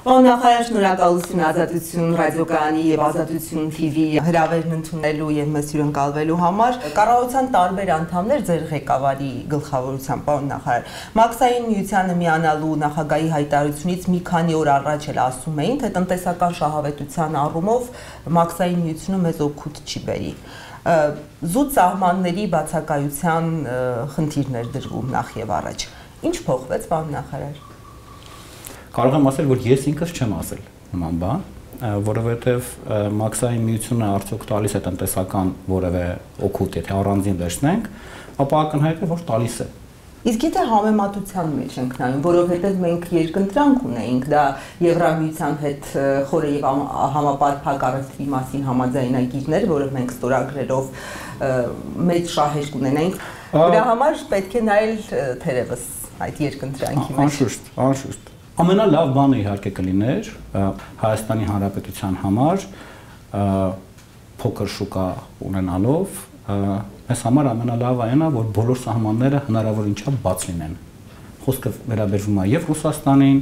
Պարոն նախարար, շնորհակալություն Ազատություն ռադիոկայանի եւ Ազատություն TV հրավերն ընդունելու եւ մեզ հյուրընկալվելու համար։ Կառավարության տարբեր անդամներ ձեր ղեկավարի գլխավորությամբ, պարոն նախարար, Մաքսային միությանը միանալու նախագահի հայտարարությունից մի քանի օր առաջ էլ ասում էին, թե տնտեսական շահավետության առումով Մաքսային միությունը մեզ օգուտ չի բերի։ Զուտ սահմանների բացակայության խնդիրներ դրվում նախ եւ առաջ։ Ինչ փոխվեց, պարոն նախարար։ Կարող եմ ասել, որ ես ինքս չեմ ասել նման բան, որովհետև Մաքսային միությունը արդյոք տալիս է տնտեսական որևէ օգուտ, եթե առանձին վերցնենք, ապա ակնհայտ է, որ տալիս է։ Իսկ եթե համեմատության մեջ ենք նայում, որովհետև մենք երկընտրանք ունեինք, դա Եվրամիության հետ խորը եւ համապարփակ առևտրի մասին համաձայնագիրներ, որը մենք ստորագրելով մեծ շահեր կունենայինք, դրա համար պետք է նայել թերևս այդ երկընտրանքի մեջ։ Անշուշտ։ Ամենալավ բանը իհարկե կլիներ Հայաստանի Հանրապետության համար փոքր շուկա ունենալով, այս համար ամենալավը այն է, որ բոլոր սահմանները հնարավոր ինչա բաց լինեն։ Խոսքը վերաբերվում է եւ Ռուսաստանին,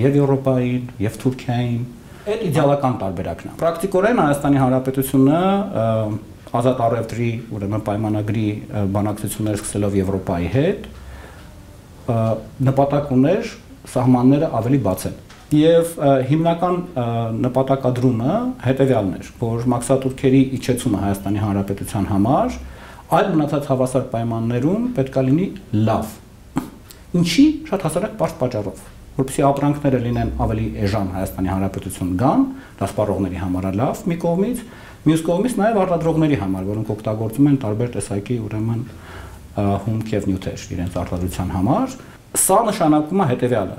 եւ Եվրոպային, եւ Թուրքիային։ Այդ իդեալական տարբերակն է։ Պրակտիկորեն Հայաստանի Հանրապետությունը ազատ առևտրի, ուրեմն պայմանագրի բանակցություններ սկսելով Եվրոպայի հետ նպատակ ուներ սահմանները ավելի բաց են։ Եվ հիմնական նպատակադրումը հետևյալն էր, որ մաքսատուրքերի իջեցումը Հայաստանի Հանրապետության համար այլ մնացած հավասար պայմաններում պետք է լինի լավ։ Ինչի շատ հասարակ պարզ պատճառով, որպեսզի ապրանքները լինեն ավելի էժան Հայաստանի Հանրապետություն գան, դա սպառողների համար է լավ մի կողմից, մյուս կողմից նաև արտադրողների համար, որոնք օգտագործում են տարբեր տեսակի ուրեմն հումք եւ նյութեր իրենց արտադրության համար։ Սա նշանակում է հետևյալը.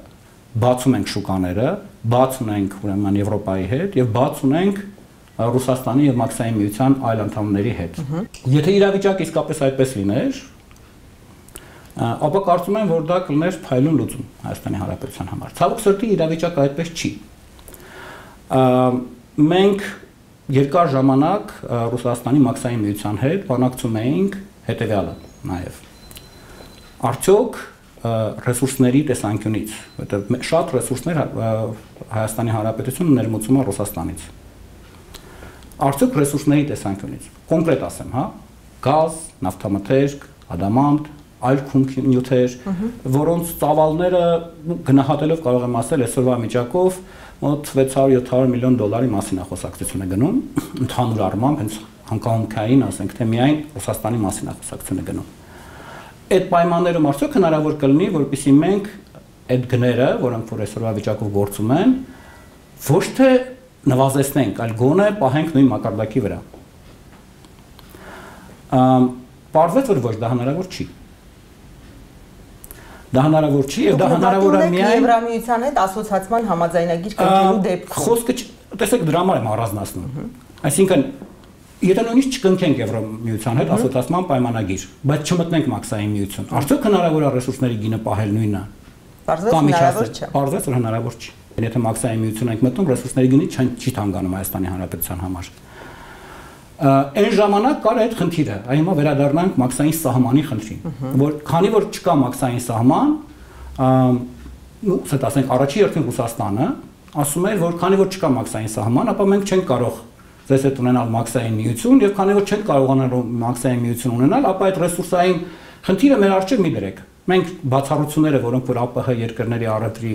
բաց ունենք շուկաները, բաց ունենք ուրեմն Եվրոպայի հետ եւ բաց ունենք Ռուսաստանի եւ Մաքսային միության այլ անդամների հետ։ Եթե իրավիճակը իսկապես այդպես լիներ, ապա կարծում եմ, որ դա կլիներ փայլուն լուծում Հայաստանի Հանրապետության համար։ Ցավոք սրտի իրավիճակը այդպես չի։ Մենք երկար ժամանակ Ռուսաստանի Մաքսային միության հետ բանակցում էինք հետևյալը նաեւ։ Արդյոք ռեսուրսների տեսանկյունից, որտեղ շատ ռեսուրսներ Հայաստանի Հանրապետությունը ներմուծում է Ռուսաստանից։ Արդյոք ռեսուրսների տեսանկյունից, կոնկրետ ասեմ, հա, գազ, նավթամթերք, ադամանտ, այլ նյութեր, որոնց ծավալները գնահատելով կարող եմ ասել այսօրվա միջակով մոտ 600-700 միլիոն դոլարի մասին է խոսակցությունը գնում, ընդհանուր առմամբ հենց հանգամանքային, ասենք թե միայն Ռուսաստանի մասին է խոսակցությունը գնում։ Այդ պայմաններում արդյոք հնարավոր կլինի, որպեսզի մենք այդ գները, որոնք որ այսօրվա վիճակով գործում են, ոչ թե նվազեցնենք, այլ գոնե պահենք նույն մակարդակի վրա։ Պարզվեց, որ ոչ, դա հնարավոր չի։ Դա հնարավոր չի, եւ դա հնարավոր է միայն Եվրամիության հետ ասոցիացիան համաձայնագիր կնքելու դեպքում։ Խոսքը, տեսեք, դրա համար եմ առանձնացնում։ Այսինքն եթե նույնիսկ չկնքենք Եվրամիության հետ ասոցիացիան պայմանագիր, բայց չմտնենք Մաքսային միություն, արդյոք հնարավոր է ռեսուրսների գինը պահել նույնը։ Պարզվեց, որ հնարավոր չի։ Եթե Մաքսային միություն ենք մտնում, ռեսուրսների գինը չի թանկանում Հայաստանի Հանրապետության համար։ Այն ժամանակ կար այդ խնդիրը, այ հիմա վերադառնանք Մաքսային սահմանի խնդրին, որ քանի որ չկա Մաքսային սահման, ասենք ասենք առաջի հերթին Ռուսաստանը ասում էր, որ քանի որ չկա Մաքսային սահման, ապա մենք չենք կարող ձեզ հետ ունենալ Մաքսային միություն եւ քանի որ չենք կարողանալ Մաքսային միություն ունենալ, ապա այդ ռեսուրսային խնդիրը մեր առջև մի դրեք։ Մենք բացառությունները, որոնք որ ԱՊՀ երկրների առևտրի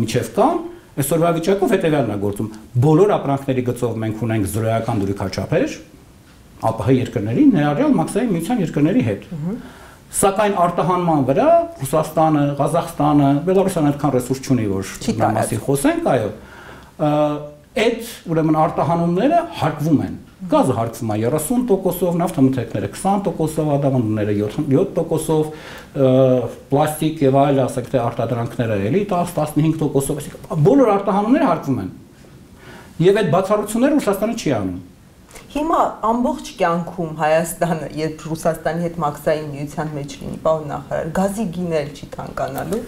միջև կան, այսօրվա վիճակով հետեւյալն է գործում։ Բոլոր ապրանքների գծով մենք ունենք զրոյական դուրիքաչափեր ԱՊՀ երկրների, ներառյալ Մաքսային միության երկրների հետ։ Սակայն արտահանման վրա Ռուսաստանը, Ղազախստանը, Բելարուսը այդքան ռեսուրս չունի, որ նա մասին խոսենք, այո։ Այդ ուրեմն արտահանումները հարկվում են։ Գազը հարկվում է 30%-ով, նավթամթերքները 20%-ով, ադամանդները 7%-ով, պլաստիկ եւ այլ, ասենք թե արտադրանքները էլի 10-15%-ով, այսինքն բոլոր արտահանումները հարկվում են։ Եվ այդ բացառությունները Ռուսաստանը չի անում։ Հիմա ամբողջ կյանքում Հայաստանը, երբ Ռուսաստանի հետ Մաքսային միության մեջ լինի, պարոն նախարար, գազի գիներ չի թանկանալու։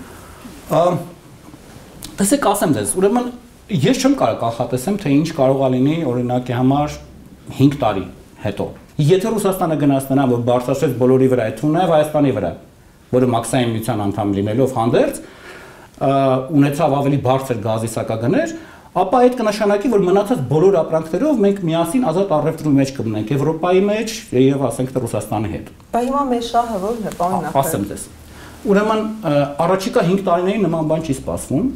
Տեսեք, ասեմ ձեզ, ուրեմն ես չեմ կարող կանխատեսեմ, թե ինչ կարող է լինի օրինակի համար 5 տարի հետո։ Եթե Ռուսաստանը գնաց նրան, որ բարձրացրեց բոլորի վրա, այդ թվում նաև Հայաստանի վրա, որը Մաքսային միության անդամ լինելով հանդերձ, ունեցավ ավելի բարձր գազի սակագներ, ապա այդ կնշանակի, որ մնացած բոլոր ապրանքներով մենք միասին ազատ առևտրի մեջ կմնենք Եվրոպայի մեջ եւ ասենք թե Ռուսաստանի հետ։ Բայց հիմա մեր շահը ո՞րն է, պարոն նախարար։ Ասեմ ձեզ։ Ուրեմն առաջիկա 5 տարիներին նման բան չի սպասվում։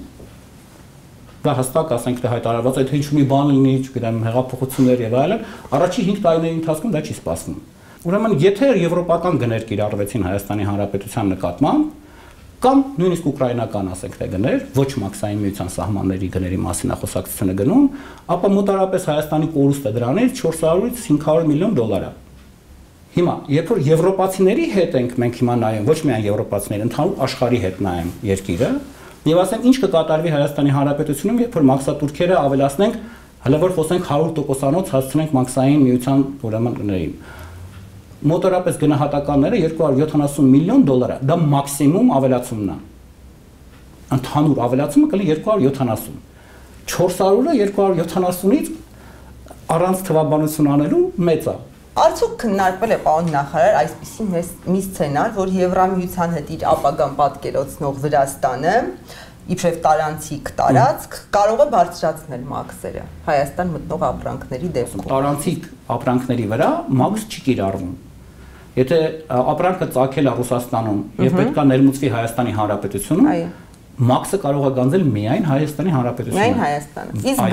Դա հստակ ասենք թե հայտարարված է, թե ինչ մի բան լինի, չգիտեմ, հեղափոխություններ եւ այլն, առաջի 5 տարիների ընթացքում դա չի սպասվում։ Ուրեմն եթե եվրոպական գներ կիրառվեցին Հայաստանի Հանրապետության նկատմամբ, կամ նույնիսկ ուկրաինական ասենք թե գներ, ոչ մաքսային միության սահմանների գների մասին է խոսակցությունը գնում, ապա մոտարապես Հայաստանի կորուստը դրանից 400-ից 500 միլիոն դոլար է։ Հիմա, երբ որ եվրոպացիների հետ ենք մենք հիմա նայում, ոչ միայն եվրոպացիների, ընդհանուր աշխարհի հետ նայում երկիրը, եւ ասենք ինչ կկատարվի Հայաստանի Հանրապետությունում, երբ որ մաքսատուրքերը ավելացնենք, հələ որ խոսենք 100%-անոց հասցնենք մաքսային միության ուրեմն գներին։ Մոտորապես գնահատականները 270 միլիոն դոլար է, դա մաքսիմում ավելացումն է։ Ընդհանուր ավելացումը կլինի 270։ 400-ը 270-ից առանց թվաբանություն անելու մեծ է։ Արդյոք քննարկվել է պարոն նախարար այսպիսի մի սցենար, որ Եվրամիության հետ իր ապագան պատկերացնող Վրաստանը իբրև տարանցիկ տարածք կարող է բարձրացնել մաքսերը Հայաստան մտնող ապրանքների դեպքում։ Տարանցիկ ապրանքների վրա մաքս չի կիրառվում։ Եթե ապրանքը ծագել է Ռուսաստանում եւ պետքա ներմուծվի Հայաստանի Հանրապետությունում, մաքսը կարող է գանձել միայն Հայաստանի Հանրապետությունում։ Միայն Հայաստանը։ Իսկ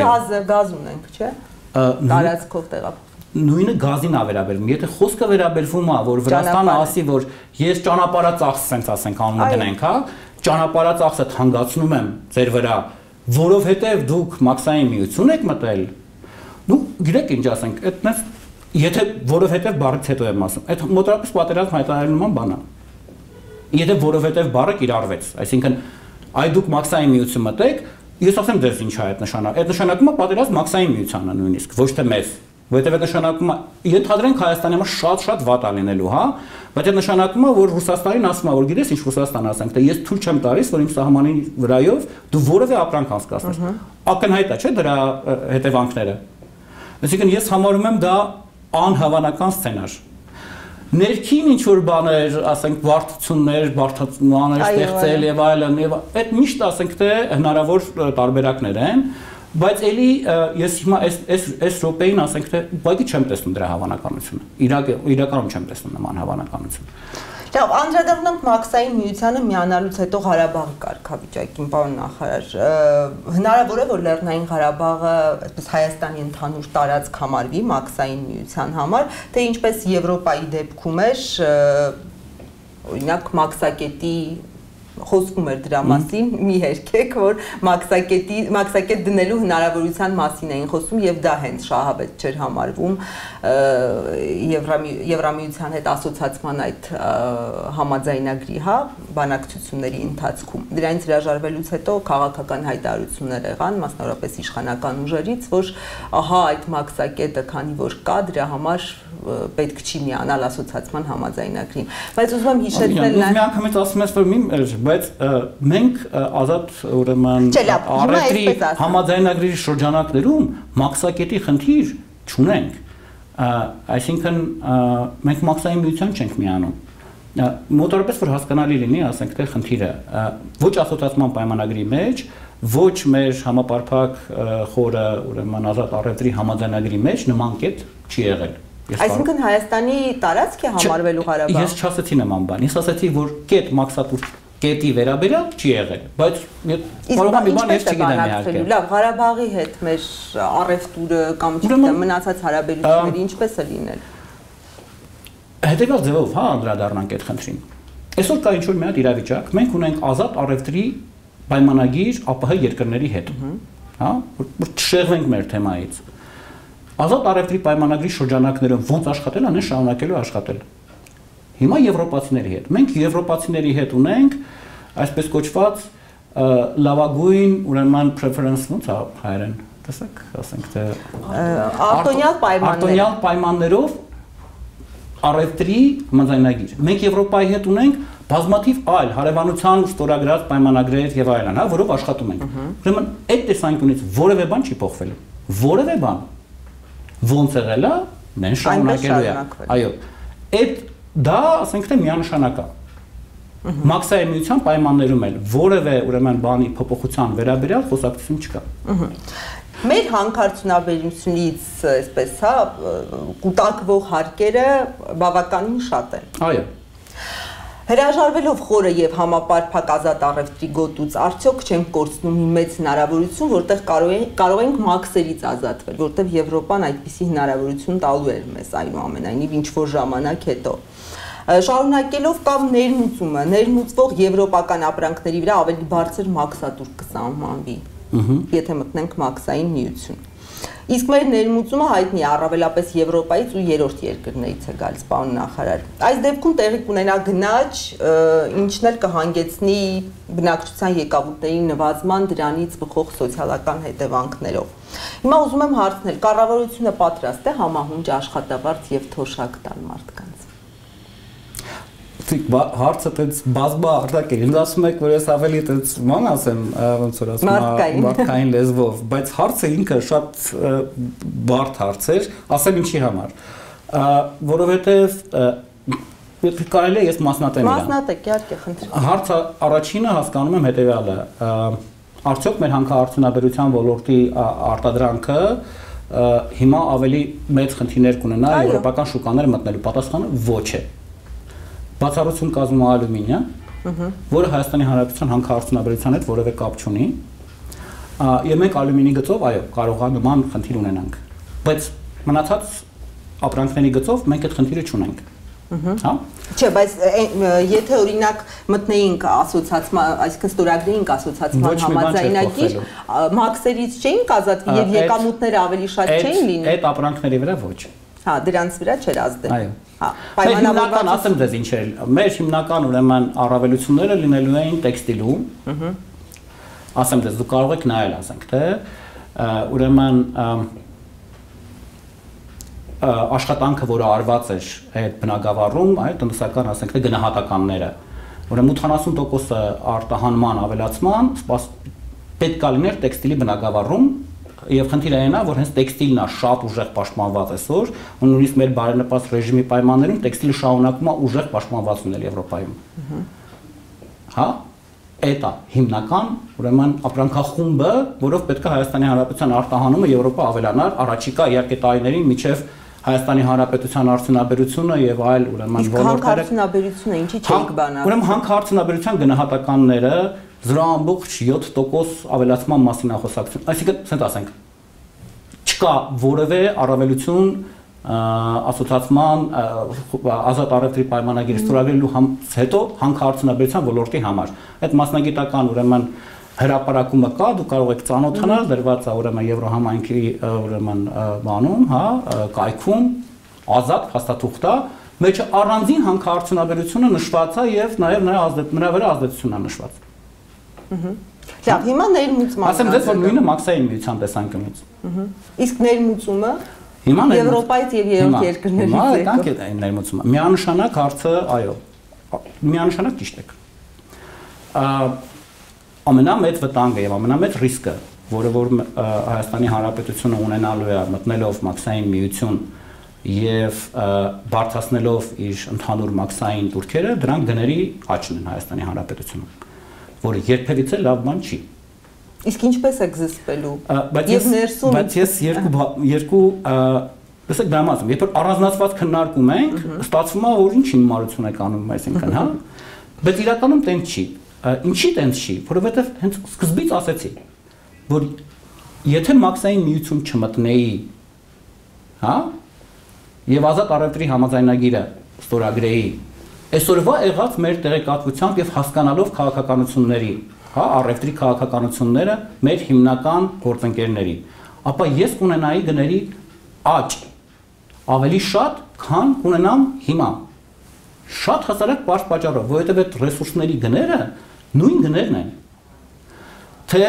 գազ ունենք, չէ՞։ Տարածքով տեղափոխ։ Նույնը գազին է վերաբերվում։ Եթե խոսքը վերաբերվում է, որ Վրաստանը ասի, որ ես ճանապարհածախս sense ասենք անունը դնենք, հա, ճանապարհածախսը թանկացնում եմ ձեր վրա, որովհետև դուք մաքսային միություն եք մտել։ Ну, գիտեք ինչ ասենք, այդպես եթե որովհետև բառից հետո եմ ասում, այդ մոտավորապես պատերազմ հայտարարելու նման բան է։ Եթե որովհետև բառը կիրառվեց, այսինքն այ դուք մաքսային միություն մտեք, ես ասեմ ձեզ ինչ է այդ նշանակում։ Այդ նշանակումը պատերազմ մաքսային միությանը նույնիսկ, ոչ թե մեզ։ Որտեղ այդ նշանակումը ենթադրենք Հայաստանի համար շատ վատ է լինելու, հա, բայց այդ նշանակումը որ Ռուսաստանին ասում է, որ գիտես ինչ Ռուսաստանը ասենք, թե ես թույլ չեմ տալիս, որ իմ սահմանի վրայով դու որևէ ապրանք անցկացնես։ Ակնհայտ է, չէ՞ դրա հետևանքները։ Այսինքն ես համարում եմ դա անհավանական սցենար։ Ներքին ինչ որ բաներ, ասենք վարդություններ, բարդություններ ստեղծել եւ այլն, եւ այդ միշտ ասենք թե հնարավոր տարբերակներ են, բայց էլի ես հիմա այս րոպեին ասենք թե ուղղակի չեմ տեսնում դրա հավանականությունը։ Իրականում չեմ տեսնում նման հավանականություն։ Լավ, անդրադառնանք մաքսային միությանը միանալուց հետո Ղարաբաղի կարգավիճակին, պարոն նախարար, հնարավոր է որ Լեռնային Ղարաբաղը այսպես Հայաստանի ընդհանուր տարածք համարվի մաքսային միության համար, թե ինչպես Եվրոպայի դեպքում էր, օրինակ մաքսակետի խոսվում էր դրա մասին, մի հերքեք, որ մաքսակետ դնելու հնարավորության մասին էին խոսում եւ դա հենց շահավետ չէր համարվում Եվրամիության հետ ասոցիացման այդ համաձայնագրի, հա, բանակցությունների ընթացքում։ Դրանից հրաժարվելուց հետո քաղաքական հայտարարություններ եղան, մասնավորապես իշխանական ուժերից, որ ահա այդ մաքսակետը քանի որ կա, դրա համար պետք չի միանալ ասոցիացման համաձայնագրին։ Բայց ուզում եմ հիշեցնել Մի անգամից ասում ես որ բայց մենք ազատ ուրեմն առևտրի համաձայնագրի շրջանակներում մաքսակետի խնդիր չունենք։ Այսինքն մենք մաքսային միության չենք միանում։ Մոտորապես որ հասկանալի լինի, ասենք թե խնդիրը ոչ ասոցիացման պայմանագրի մեջ, ոչ մեր համապարփակ խորը ուրեմն ազատ առևտրի համաձայնագրի մեջ նման կետ չի եղել։ Այսինքն Հայաստանի տարածք է համարվելու Ղարաբաղը։ Ես չասեցի նման բան, ես ասացի որ կետ մաքսատուր կետի վերաբերյալ չի եղել, բայց կարող է մի բան ես չգիտեմ իհարկե։ Լավ, Ղարաբաղի հետ մեր առևտուրը կամ չգիտեմ մնացած հարաբերությունները ինչպես է լինել։ Հետևյալ ձևով, հա, անդրադառնանք այդ խնդրին։ Այսօր կա ինչ-որ մի հատ իրավիճակ, մենք ունենք ազատ առևտրի պայմանագիր ԱՊՀ երկրների հետ, հա, որ չշեղվենք մեր թեմայից։ Ազատ առևտրի պայմանագրի շրջանակներում ոնց աշխատել, անեն շարունակելու աշխատել։ Հիմա եվրոպացիների հետ։ Մենք եվրոպացիների հետ ունենք այսպես կոչված լավագույն ուրեմն preference ոնց է հայերեն, տեսեք, ասենք թե արտոնյալ պայմաններով առևտրի համաձայնագիր։ Մենք Եվրոպայի հետ ունենք բազմաթիվ այլ հարևանության ստորագրած պայմանագրեր եւ այլն, հա, որով աշխատում ենք։ Ուրեմն այդ տեսանկյունից որևէ բան չի փոխվել։ Որևէ բան։ Ոնց եղել է, նեն շարունակելու է։ Այո։ Այդ դա ասենք թե միանշանակ է։ Մաքսային միության պայմաններում էլ որևէ ուրեմն բանի փոփոխության վերաբերյալ խոսակցություն չկա։ Մեր հանքարդյունաբերությունից, այսպես, հա, կուտակվող հարկերը բավականին շատ են։ Այո։ Հրաժարվելով խորը եւ համապարփակ ազատ առևտրի գոտուց, արդյոք չենք կորցնում մի մեծ հնարավորություն, որտեղ կարող ենք մաքսերից ազատվել, որտեղ Եվրոպան այդպիսի հնարավորություն տալու էր մեզ այնուամենայնիվ ինչ որ ժամանակ հետո։ Շարունակելով կամ ներմուծվող եվրոպական ապրանքների վրա ավելի բարձր մաքսատուր կսահմանվի, եթե մտնենք մաքսային միություն։ Իսկ մեր ներմուծումը հայտնի է առավելապես Եվրոպայից ու երրորդ երկրներից է գալիս, պարոն նախարար։ Այս դեպքում տեղի կունենա գնաճ, ինչն էլ կհանգեցնի բնակչության եկամուտների նվազման, դրանից բխող սոցիալական հետևանքներով։ Հիմա ուզում եմ հարցնել, կառավարությունը պատրաստ է համահունչ աշխատավարձ եւ թոշակ տալ մարդկանց։ Հարցը տենց բազմաարտակ է, ինձ ասում եք, որ ես ավելի տենց ման ասեմ, ոնց որ ասում եմ, մարդկային լեզվով, բայց հարցը ինքը շատ բարդ հարց էր, ասեմ ինչի համար, որովհետև կարելի է ես մասնատեմ իրան։ Մասնատեք, իհարկե, խնդրեմ։ Հարցը առաջինը հասկանում եմ հետևյալը, արդյոք մեր հանքարդյունաբերության ոլորտի արտադրանքը հիմա ավելի մեծ խնդիրներ կունենա եվրոպական շուկաներ մտնելու, պատասխանը ոչ է։ Բացառություն կազմում է ալյումինը, որը Հայաստանի Հանրապետության հանքարդյունաբերության հետ որևէ կապ չունի, եւ մենք ալյումինի գծով, այո, կարող է նման խնդիր ունենանք, բայց մնացած ապրանքների գծով մենք այդ խնդիրը չունենք։ Հա? Չէ, բայց եթե օրինակ մտնեինք ասոցիացիան, այսինքն ստորագրեինք ասոցիացիան համաձայնագիր, մաքսերից չէինք ազատվի եւ եկամուտները ավելի շատ չէին լինի։ Այդ ապրանքների վրա ոչ։ Հա, դրանց վրա չէր ազդել։ Այո։ Հա, պայմանավորված ասեմ դες ինչ էր։ Մեր հիմնական ուրեմն առավելությունները լինելու էին տեքստիլում։ Ասեմ դες դու կարող եք նայել, ասենք, թե ուրեմն աշխատանքը, որը արված էր այդ բնակավարում, այլ տնտեսական, ասենք, թե գնահատականները։ Ուրեմն 80% արտահանման ավելացման պետք է լիներ տեքստիլի բնակավարում։ Եվ խնդիրը այն է, որ հենց տեքստիլն է շատ ուժեղ պաշտպանված այսօր, ու նույնիսկ մեր բարենպաստ ռեժիմի պայմաններում տեքստիլը շարունակում է ուժեղ պաշտպանված լինել Եվրոպայում։ Հա, այդ է հիմնական, ուրեմն ապրանքախումբը, որով պետք է Հայաստանի Հանրապետության արտահանումը Եվրոպա ավելանար, առաջիկա իհարկե տարիներին միջև Հայաստանի Հանրապետության արդյունաբերությունը եւ այլ ուրեմն ոլորտները։ Հանքարդյունաբերությունը ինչի՞ չենք բանալու։ Ուրեմն հանքարդյունաբերության գնահատականները 0.7% ավելացման մասին է խոսակցություն։ Այսինքն, ասենք ասենք, չկա որևէ առավելություն ասոցիացիան ազատ առևտրի պայմանագիրը ստորագրելու հետո հանքարդյունաբերության ոլորտի համար։ Այդ մասնագիտական ուրեմն հրապարակումը կա, դու կարող եք ծանոթանալ, դրված է ուրեմն Եվրոհամայնքի ուրեմն բանում, հա, կայքում, ազատ փաստաթուղթ է, մեջը առանձին հանքարդյունաբերությունը նշված է եւ նաեւ նրա վրա ազդեցությունն է նշված։ Լավ, հիմա ներմուծման։ Ասեմ դες որ նույնը մաքսային միության տեսանկյունից։ Իսկ ներմուծումը հիմա Եվրոպայից եւ երրորդ երկրներից Հիմա կանք է ներմուծումը։ Միանշանակ հարցը, այո, միանշանակ ճիշտ եք։ Ամենամեծ վտանգը եւ ամենամեծ ռիսկը, որը որ Հայաստանի Հանրապետությունը ունենալու է մտնելով մաքսային միություն եւ բարձրացնելով իր ընդհանուր մաքսային турքերը, դրանք գների աճն են Հայաստանի Հանրապետությունում, որը երբևիցե լավ բան չի։ Իսկ ինչպես եք զսպելու։ Եվ ներսում։ Բայց ես երկու տեսեք դրամազմ, երբ որ առանձնացված քննարկում ենք, ստացվում է որ ինչ հիմարություն եք անում, այսինքն, հա։ Բայց իրականում տենց չի։ Ինչի տենց չի, որովհետև հենց սկզբից ասեցի, որ եթե մաքսային միություն չմտնեի, հա, եւ ազատ առևտրի համաձայնագիրը ստորագրեի, այսօրվա եղած մեր տեղեկատվությամբ եւ հասկանալով քաղաքականությունների, հա, առևտրի քաղաքականությունները մեր հիմնական գործընկերների, ապա ես կունենայի գների աճ ավելի շատ, քան կունենամ հիմա։ Շատ հասարակ բարձ պատճառով, որովհետև այդ ռեսուրսների գները նույն գներն են։ Թե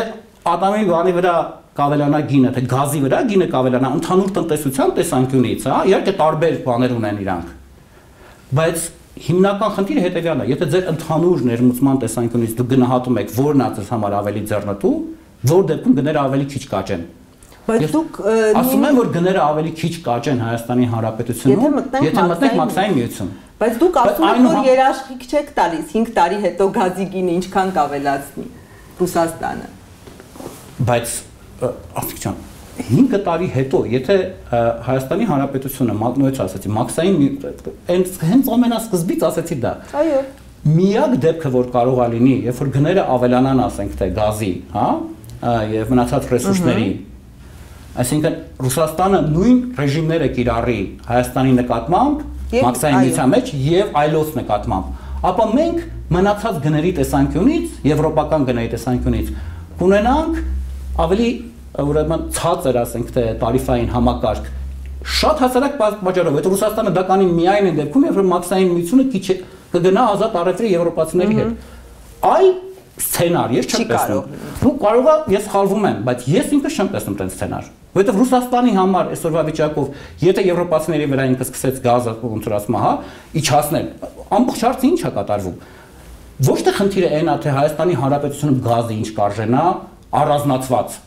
ատամի բանի վրա կավելանա գինը, թե գազի վրա գինը կավելանա, ընդհանուր տնտեսության տեսանկյունից, հա, իհարկե տարբեր բաներ ունեն իրանք։ Բայց հիմնական խնդիրը հետևյալն է, եթե ձեր ընդհանուր ներմուծման տեսանկյունից դուք գնահատում եք, որն է ձեզ համար ավելի ձեռնտու, որ դեպքում գները ավելի քիչ կաճեն։ Բայց դուք ասում եմ, որ գները ավելի քիչ կաճեն Հայաստանի Հանրապետությունում, եթե մտնենք մաքսային միություն։ Բայց դուք ասում եք, որ երաշխիք չեք տալիս 5 տարի հետո գազի գինը ինչքան կավելացնի Ռուսաստանը։ Բայց Արտիկ ջան, 5 տարի հետո, եթե Հայաստանի Հանրապետությունը նույնց ասացի, մաքսային հենց ամենասկզբից ասացի դա։ Այո։ Միակ դեպքը, որ կարող է լինի, երբ որ գները ավելանան, ասենք թե գազի, հա, եւ մնացած ռեսուրսների, այսինքն Ռուսաստանը նույն ռեժիմները կիրառի Հայաստանի նկատմամբ, մաքսային միության մեջ եւ այլոց նկատմամբ, ապա մենք մնացած գների տեսանկյունից, եվրոպական գների տեսանկյունից կունենանք ավելի ուրեմն ցածր, ասենք թե տարիֆային համակարգ շատ հասարակ պատճառով, այդ Ռուսաստանը դա կանի միայն այն դեպքում, երբ որ մաքսային միությունը կգնա ազատ առևտրի եվրոպացիների հետ։ Այլ սցենար ես չեմ տեսնում։ Դու կարող ես սխալվում եմ, բայց ես ինքս չեմ տեսնում այդ սցենար։ Որովհետև Ռուսաստանի համար այսօրվա վիճակով, եթե եվրոպացիների վրա ինքը սկսեց գազը ոնց ասում, հա, իջացնել, ամբողջ հարցը ի՞նչ է կատարվում։ Ոչ թե խնդիրը այն է, թե Հայաստանի Հանրապետությունը գազը ինչ կարժենա, առանձնացված։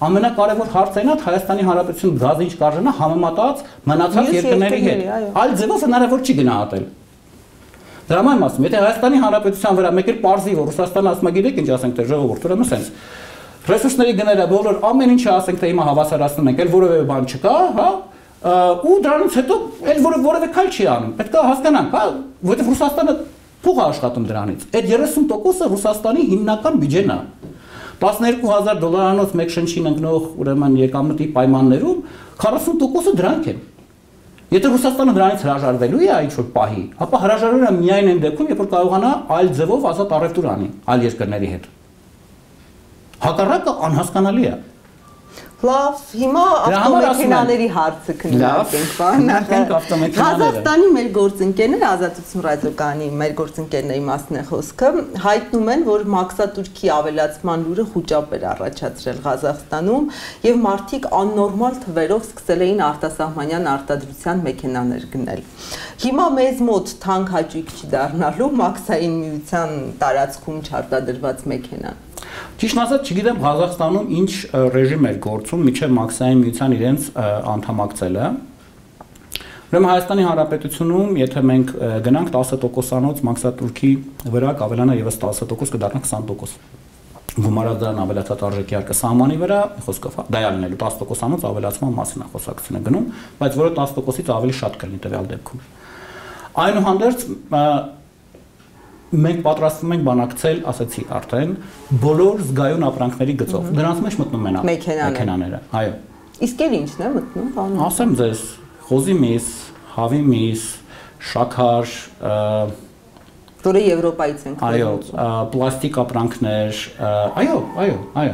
Ամենակարևոր հարցը այն է, թե Հայաստանի Հանրապետությունը գազը ինչ կարժենա համեմատած մնացած երկրների հետ։ Այլ ձևով հնարավոր չի գնահատել։ Դրա համար եմ ասում, եթե Հայաստանի Հանրապետության վրա մեկ էլ պարզի, որ Ռուսաստանը ասում է, գիտեք ինչ ասենք, թե ժողովուրդ, ուրեմն սենց ռեսուրսների գները բոլոր ամեն ինչը ասենք, թե հիմա հավասարացնում ենք, էլ որևէ բան չկա, հա, ու դրանից հետո էլ որևէ քայլ չի անում։ Պետք է հասկանանք, հա, որովհետև Ռուսաստանը փող է աշխատում դրանից։ Այդ 30%-ը Ռուսաստանի հիմնական բյուջեն է։ $12,000 մեկ շնչին ընկնող ուրեմն եկամտի պայմաններում 40%-ը դրանք են։ Եթե Ռուսաստանը դրանից հրաժարվելու է ինչ-որ պահի, ապա հրաժարվելը միայն այն դեպքում, երբ որ կարողանա այլ ձևով ազատ առևտուր անի այլ երկրների հետ։ Հակառակը անհասկանալի է։ Լավ, հիմա ավտոմեքենաների հարցը քննարկենք, բանախենք ավտոմեքենաները։ Հայաստանի մեր գործընկերները, Ազատություն ռադիոկայանի մեր գործընկերների մասն է խոսքը, հայտնում են, որ մաքսատուրքի ավելացման լուրը խուճապ էր առաջացրել Ղազախստանում եւ մարդիկ աննորմալ թվերով սկսել էին արտասահմանյան արտադրության մեքենաներ գնել։ Հիմա մեզ մոտ թանկ հաճույք չի դառնալու մաքսային միության տարածքում չարտադրված մեքենան։ Ճիշտ ասած, չգիտեմ Ղազախստանում ինչ ռեժիմ էր գործում մինչև մաքսային միության իրենց անդամակցելը։ Ուրեմն Հայաստանի Հանրապետությունում, եթե մենք գնանք 10%-անոց մաքսատուրքի վրա կավելանա եւս 10%, կդառնա 20%։ Գումարած դրան ավելացած արժեքի հարկը սահմանի վրա, խոսքով դա է լինելու 10%-անոց ավելացման մասին է խոսակցությունը գնում, բայց որը 10%-ից ավելի շատ կլինի տվյալ դեպքում։ Այնուհանդերձ մենք պատրաստվում ենք բանակցել, ասացի արդեն, բոլոր զգայուն ապրանքների գծով։ Դրանց մեջ մտնում են մեքենաները։ Այո։ Իսկ էլ ի՞նչն է մտնում, բանը։ Ասեմ ձեզ, խոզի միս, հավի միս, շաքար, որը Եվրոպայից են այո, պլաստիկ ապրանքներ, այո,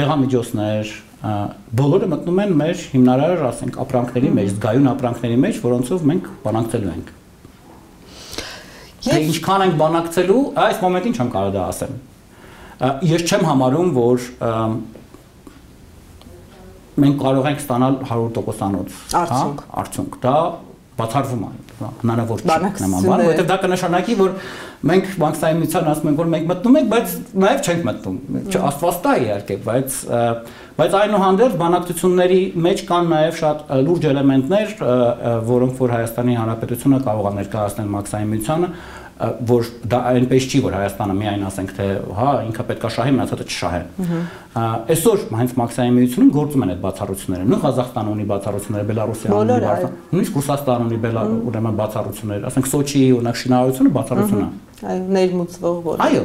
դեղամիջոցներ, բոլորը մտնում են մեր հիմնարար, ասենք, ապրանքների մեջ, զգայուն ապրանքների մեջ, որոնցով մենք բանակցելու ենք։ Թե ինչքան ենք բանակցելու, այս մոմենտին չեմ կարող դա ասեմ։ Ես չեմ համարում, որ մենք կարող ենք ստանալ 100%-անոց արդյունք։ Դա բացառվում է, հնարավոր չի նման բան, որովհետև դա կնշանակի, որ մենք մաքսային միության ասում ենք, որ մենք մտնում ենք, բայց նաև չենք մտնում։ Աստված տա իհարկե, բայց այնուհանդերձ բանակցությունների մեջ կան նաև շատ լուրջ էլեմենտներ, որոնք որ Հայաստանի Հանրապետությունը կարող է ներկայացնել մաքսային միությանը, որ դա այնպես չի, որ Հայաստանը միայն ասենք թե հա ինքը պետք է շահի, մնացածը չշահեն։ Այսօր հենց մաքսային միությունում գործում են այդ բացառությունները։ Նույն Ղազախստանը ունի բացառություններ, Բելարուսիան ունի բացառություններ, նույնիսկ Ռուսաստանը ունի ուրեմն բացառություններ, ասենք Սոչիի օրինակ շինարարությունը բացառություն է։ Այո, ներմուծվող որ։ Այո։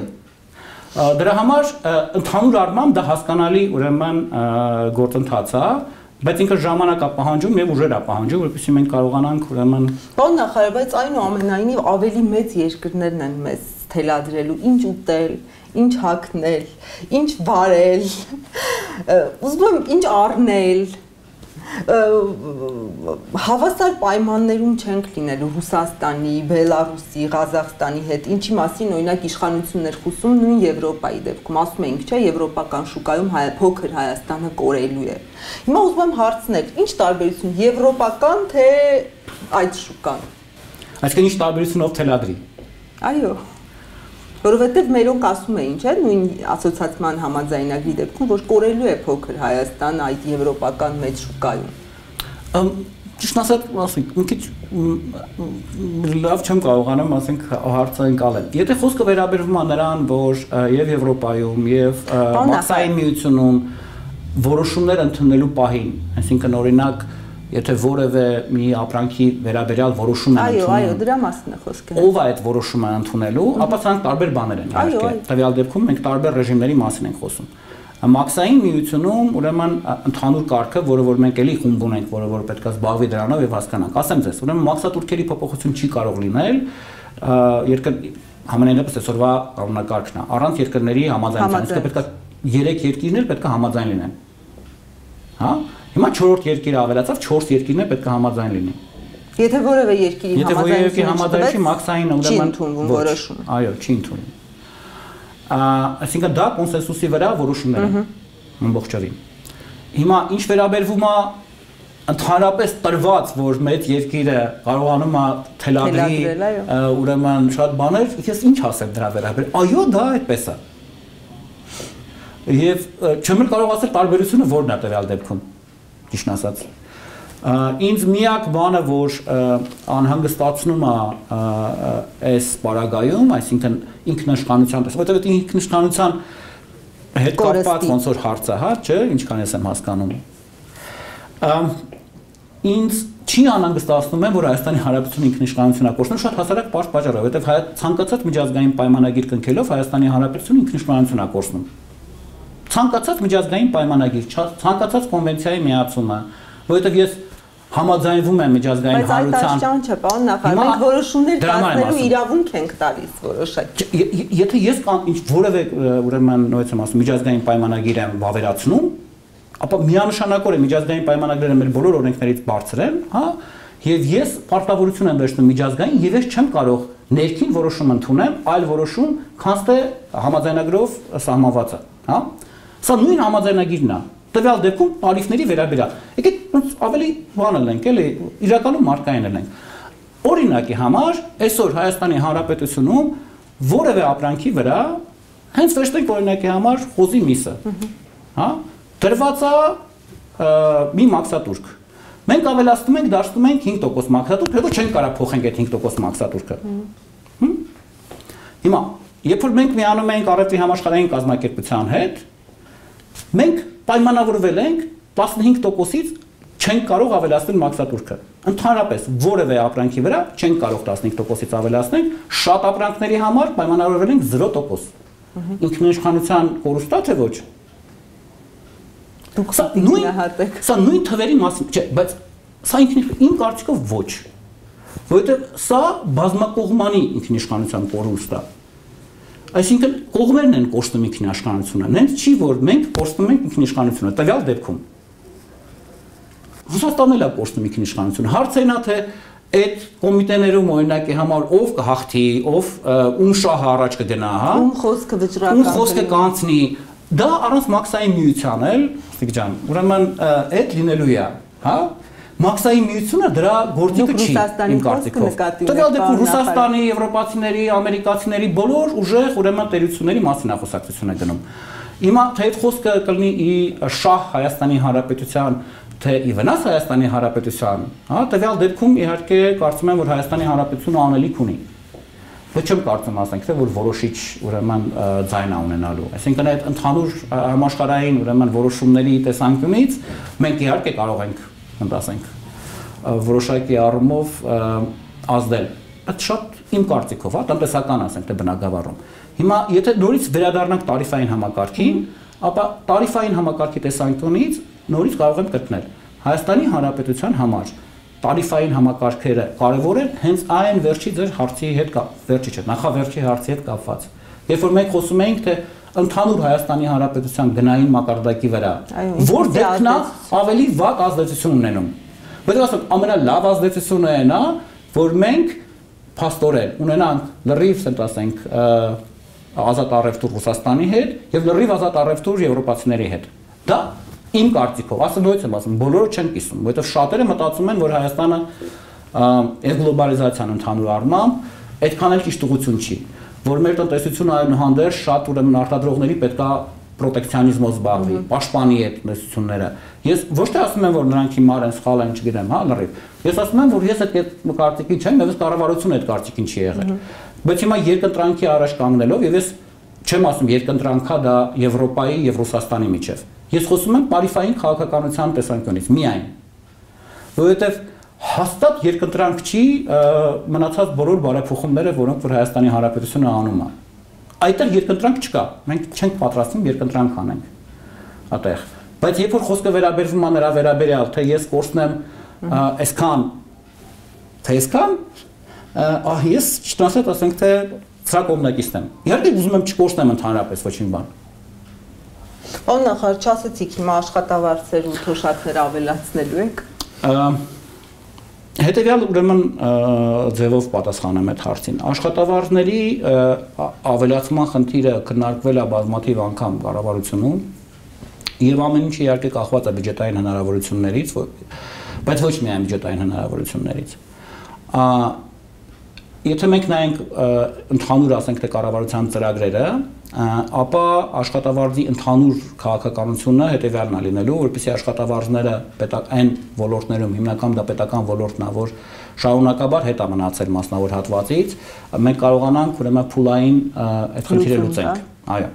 Դրա համար ընդհանուր առմամբ դա հասկանալի ուրեմն գործընթաց է, բայց ինքը ժամանակ է պահանջում եւ ուժեր է պահանջում, որպեսզի մենք կարողանանք ուրեմն Բան նախարար, բայց այնուամենայնիվ ավելի մեծ երկրներն են մեզ թելադրելու ինչ ուտել, ինչ հագնել, ինչ վարել, ուզում եմ ինչ առնել, հավասար պայմաններում չենք լինելու Ռուսաստանի, Բելարուսի, Ղազախստանի հետ, ինչի մասին օրինակ իշխանություններ խոսում նույն Եվրոպայի դեպքում, ասում ենք, չէ, եվրոպական շուկայում փոքր Հայաստանը կորելու է։ Հիմա ուզում եմ հարցնել, ինչ տարբերություն եվրոպական թե այդ շուկան։ Այսինքն ինչ տարբերությունով թելադրի։ Այո։ Որովհետև մերոնք ասում էին, չէ, նույն ասոցիացիան համաձայնագրի դեպքում, որ կորելու է փոքր Հայաստան այդ եվրոպական մեծ շուկայում։ ճիշտ ասած, ասենք, մի քիչ լավ չեմ կարողանում, ասենք, հարցը ընկալել։ Եթե խոսքը վերաբերվում է նրան, որ եւ Եվրոպայում եւ Մաքսային միությունում որոշումներ ընդունելու պահին, այսինքն օրինակ, եթե որևէ մի ապրանքի վերաբերյալ որոշում են ընդունում։ Այո, դրա մասին է խոսքը։ Ով է այդ որոշումը ընդունելու, ապա սրանք տարբեր բաներ են, իհարկե։ Տվյալ դեպքում մենք տարբեր ռեժիմների մասին ենք խոսում։ Մաքսային միությունում ուրեմն ընդհանուր կարգը, որը որ մենք էլի խումբ ունենք, որը որ պետք է զբաղվի դրանով եւ հասկանանք։ Ասեմ ձեզ, ուրեմն մաքսատուրքերի փոփոխություն չի կարող լինել, համենայնիվս այսօրվա կանոնակարգն է, առանց երկրների համաձայնության, իսկ պետք է 3 երկիրներ պետք է համաձայն լինեն։ Հա? Հիմա 4-րդ երկիրը ավելացավ, 4 երկիրներ պետք է համաձայն լինեն։ Եթե որևէ երկիրի համաձայնություն մաքսային ուրեմն որոշում։ Այո, չի ընդունում։ Այսինքն դա կոնսենսուսի վրա որոշումներ են ամբողջովին։ Հիմա ինչ վերաբերվում է ընդհանրապես տրված, որ մեծ երկիրը կարողանում է թելադրի ուրեմն շատ բաներ, ես ինչ ասեմ դրա վերաբերյալ։ Այո, դա այդպես է։ Եվ չեմ կարող ասել տարբերությունը որն է տվյալ դեպքում, ճիշտ ասած։ Ինձ միակ բանը, որ անհանգստացնում է այս պարագայում, այսինքն ինքնիշխանության տեսք, որտեղ ինքնիշխանության հետ կապված ոնց որ հարցը, հա, չէ, ինչքան ես եմ հասկանում։ Ինձ չի անհանգստացնում է, որ Հայաստանի Հանրապետությունը ինքնիշխանություն է կորցնում շատ հասարակ պարզ պատճառով, որովհետև ցանկացած միջազգային պայմանագիր կնքելով Հայաստանի Հանրապետությունը ինքնիշխանություն է կորցնում։ Ցանկացած միջազգային պայմանագիր, ցանկացած կոնվենցիայի միացումը, որովհետև ես համաձայնվում եմ միջազգային հանրության։ Բայց այդ չէ, պարոն նախարար, մենք որոշումներ կայացնելու իրավունք ենք տալիս որոշակի։ Եթե ես ինչ որևէ ուրեմն նույնպես եմ ասում միջազգային պայմանագիր եմ վավերացնում, ապա միանշանակորեն միջազգային պայմանագրերը մեր բոլոր օրենքներից բարձր են, հա, եւ ես պարտավորություն եմ վերցնում միջազգային եւ ես չեմ կարող ներքին որոշում ընդունեմ, այլ որոշում, քանց թե համաձայնագրով սահմանված է, հա։ Սա նույն համաձայնագիրն է։ Տվյալ դեպքում տարիֆների վերաբերյալ։ Եկեք ավելի բան ենք, էլի, իրականում մարդկային ենք։ Օրինակի համար, այսօր Հայաստանի Հանրապետությունում որևէ ապրանքի վրա հենց վերջնենք օրինակի համար խոզի միսը, հա, դրված է մի մաքսատուրք։ Մենք ավելացնում ենք, դարձնում ենք 5% մաքսատուրք, հետո չենք կարող փոխենք այդ 5% մաքսատուրքը։ Հիմա, երբ որ մենք միանում ենք Առևտրի համաշխարհային կազմակերպության հետ, մենք պայմանավորվել ենք 15%-ից չենք կարող ավելացնել մաքսատուրքը։ Ընդհանրապես որևէ ապրանքի վրա չենք կարող 15%-ից ավելացնել, շատ ապրանքների համար պայմանավորվել ենք 0%։ Ինքնիշխանության կորուստա թե ոչ։ Դուք նույնահատեք։ Սա նույն թվերի մասին, չէ, բայց սա իմ կարծիքով ոչ։ Որովհետև սա բազմակողմանի ինքնիշխանության կորուստ է։ Այսինքն կողմերն են կորցնում ինքնիշխանությունը, նենց չի որ մենք կորցնում ենք ինքնիշխանությունը, տվյալ դեպքում։ Ռուսաստանն էլ է կորցնում ինքնիշխանությունը։ Հարցն է թե այդ կոմիտեներում օրինակի համար ով կհաղթի, ով ում շահը առաջ կգնա, հա։ Ում խոսքը վճռական։ Ում խոսքը կանցնի։ Դա առանց մաքսային միության էլ, Սիկ ջան, ուրեմն այդ լինելու է, հա։ Մաքսային միությունը դրա գործիքը չի, իմ կարծիքով։ Տվյալ դեպքում Ռուսաստանի, եվրոպացիների, ամերիկացիների բոլոր ուժեղ ուրեմն տերությունների մասին է խոսակցություն է գնում։ Հիմա թե այդ խոսքը կլինի ի շահ Հայաստանի Հանրապետության, թե ի վնաս Հայաստանի Հանրապետության, հա, տվյալ դեպքում իհարկե կարծում եմ, որ Հայաստանի Հանրապետությունը անելիք ունի։ Ոչ չեմ կարծում ասենք, թե որ որոշիչ ուրեմն ձայն է ունենալու։ Այսինքն այդ ընդհանուր համաշխարհային ուրեմն որոշումների տեսանկյունից մենք իհարկե կարող ենք ասենք որոշակի առումով ազդել։ Այդ շատ իմ կարծիքով, հա, տնտեսական ասենք թե բնագավառում։ Հիմա եթե նորից վերադառնանք տարիֆային համակարգին, ապա տարիֆային համակարգի տեսանկյունից նորից կարող եմ գտնել Հայաստանի Հանրապետության համար տարիֆային համակարգերը կարևոր են հենց այն վերջի ձեր հարցի հետ վերջի չէ, նախավերջի հարցի հետ կապված։ Երբ որ մենք խոսում էինք թե ընդհանուր Հայաստանի Հանրապետության գնային մակարդակի վրա, որ դեպքն է ավելի վատ ազդեցություն ունենում։ Որտեղ ասենք ամենալավ ազդեցությունը այն է, որ մենք փաստորեն ունենանք լրիվ, ասենք, ազատ առևտուր Ռուսաստանի հետ եւ լրիվ ազատ առևտուր եվրոպացիների հետ։ Դա իմ կարծիքով, ասեմ նույնպես եմ ասում, բոլորը չեն կիսում, որովհետև շատերը մտածում են, որ Հայաստանը այս գլոբալիզացիան ընդհանուր առմամբ այդքան էլ ճիշտ ուղղություն չի, որ մեր տնտեսությունը այնուհանդերձ շատ ուրեմն արտադրողների պետքա պրոտեկցիոնիզմով զբաղվի, պաշտպանի այդ տնտեսությունները։ Ես ոչ թե ասում եմ, որ նրանք հիմար են, սխալ են, չգիտեմ, հա, լրիվ։ Ես ասում եմ, որ ես այդ կարծիքի չեմ, եւ կառավարությունը այդ կարծիքին չի եղել։ Բայց հիմա երկընտրանքի առաջ կանգնելով եւ ես չեմ ասում երկընտրանքա դա Եվրոպայի եւ Ռուսաստանի միջև։ Ես խոսում եմ տարիֆային քաղաքականության տեսանկյունից միայն։ Որովհետեւ հաստատ երկընտրանք չի մնացած բոլոր բարեփոխումները, որոնք որ Հայաստանի Հանրապետությունը անում է։ Այդտեղ երկընտրանք չկա։ Մենք չենք պատրաստվում երկընտրանք անենք այդտեղ։ Բայց երբ որ խոսքը վերաբերվում է նրա վերաբերյալ, թե ես կորցնեմ այսքան, թե այսքան, ես չտասած ասենք թե սա կողմնակիցն եմ։ Իհարկե ուզում եմ չկորցնեմ ընդհանրապես ոչինչ բան։ Պարոն նախարար, չասեցիք հիմա աշխատավարձեր ու թոշակներ ավելացնելու եք։ Հետևյալ ուրեմն ձևով պատասխանեմ այդ հարցին։ Աշխատավարձների ավելացման խնդիրը քննարկվել է բազմաթիվ անգամ կառավարությունում եւ ամեն ինչ իհարկե կախված է բյուջետային հնարավորություններից, բայց ոչ միայն բյուջետային հնարավորություններից։ Եթե մենք նայենք ընդհանուր ասենք թե կառավարության ծրագրերը, ապա աշխատավարձի ընդհանուր քաղաքականությունը հետևյալն է լինելու, որպեսզի աշխատավարձները այն ոլորտներում, հիմնական դա պետական ոլորտն է, որ շարունակաբար հետ է մնացել մասնավոր հատվածից, մենք կարողանանք ուրեմն փուլային այդ խնդիրը լուծենք, այո,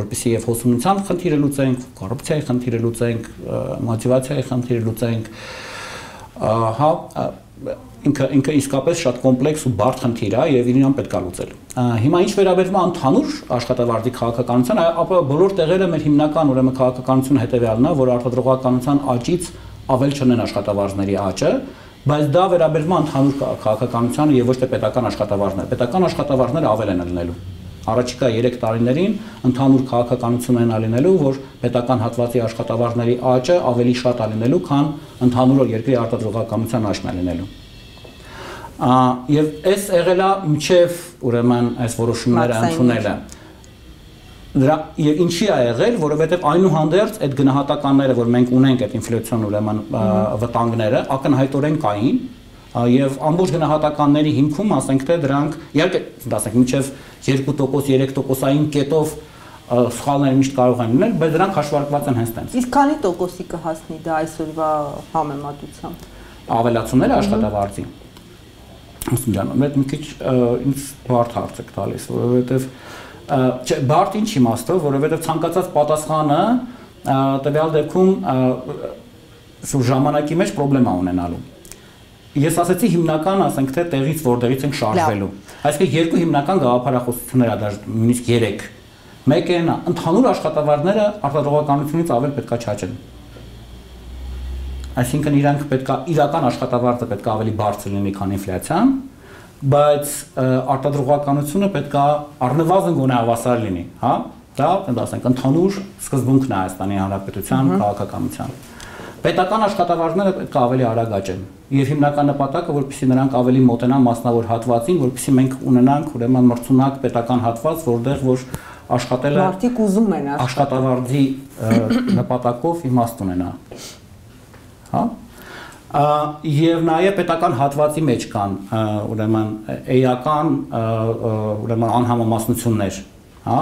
որպեսզի եւ հոսունության խնդիրը լուծենք, կոռուպցիայի խնդիրը լուծենք, մոտիվացիայի խնդիրը լուծենք, հա ինքը իսկապես շատ կոմպլեքս ու բարդ խնդիր է եւ իրեն պետք է լուծել։ Հիմա ինչ վերաբերվում է ընդհանուր աշխատավարձի քաղաքականության, ապա բոլոր տեղերը մեր հիմնական ուրեմն քաղաքականությունը հետեւյալն է, որ արտադրողականության աճից ավել չունեն աշխատավարձների աճը, բայց դա վերաբերվում է ընդհանուր քաղաքականությանը եւ ոչ թե պետական աշխատավարձները։ Պետական աշխատավարձները ավել են լինելու։ Առաջիկա 3 տարիներին ընդհանուր քաղաքականություն են լինելու, որ պետական հատվածի աշխատավարձների աճը ավելի շատ է լինելու, քան ընդհանուր երկրի արտադրողականության աճն է լինելու։ Եվ այս եղել է մինչև ուրեմն այս որոշումները ընդունելը։ Դրա եւ ինչի է եղել, որովհետեւ այնուհանդերձ այդ գնահատականները, որ մենք ունենք այդ ինֆլյացիոն ուրեմն վտանգները, ակնհայտորեն կային եւ ամբողջ գնահատականների հիմքում ասենք թե դրանք իհարկե ասենք մինչև 2%, 3%-ային կետով սխալներ միշտ կարող են լինել, բայց դրանք հաշվարկված են հենց տենց։ Իսկ քանի տոկոսի կհասնի դա այսօրվա համեմատությամբ։ Ավելացումները աշխատավարձի։ Ասում ջան, մեկ մի քիչ ինձ բարդ հարց եք տալիս, որովհետև չէ, բարդ ինչ իմաստով, որովհետև ցանկացած պատասխանը տվյալ դեպքում ժամանակի մեջ խնդրեմ ունենալու։ Ես ասացի հիմնական, ասենք թե տեղից որտեղից ենք շարժվելու։ Այսինքն երկու հիմնական գաղափարախոսություններ ա, նույնիսկ 3։ Մեկը նա, ընդհանուր աշխատավարձները արտադրողականությունից ավել պետքա չաճեն։ Այսինքն իրանք պետքա իրական աշխատավարձը պետքա ավելի բարձր լինի, քան ինֆլյացիան, բայց արտադրողականությունը պետքա առնվազն գոնե հավասար լինի, հա? Դա ասենք ընդհանուր սկզբունքն է Հայաստանի Հանրապետության քաղաքականության։ Պետական աշխատավարձները պետք է ավելի արագ աճեն եւ հիմնական նպատակը որպեսզի նրանք ավելի մոտենան մասնավոր հատվածին, որպեսզի մենք ունենանք ուրեմն մրցունակ պետական հատված, որտեղ որ աշխատելը մարդիկ ուզում են աշխատավարձի նպատակով իմաստ ունենա։ Հա? Եվ նաեւ պետական հատվածի մեջ կան ուրեմն էական ուրեմն անհամամասնություններ, հա,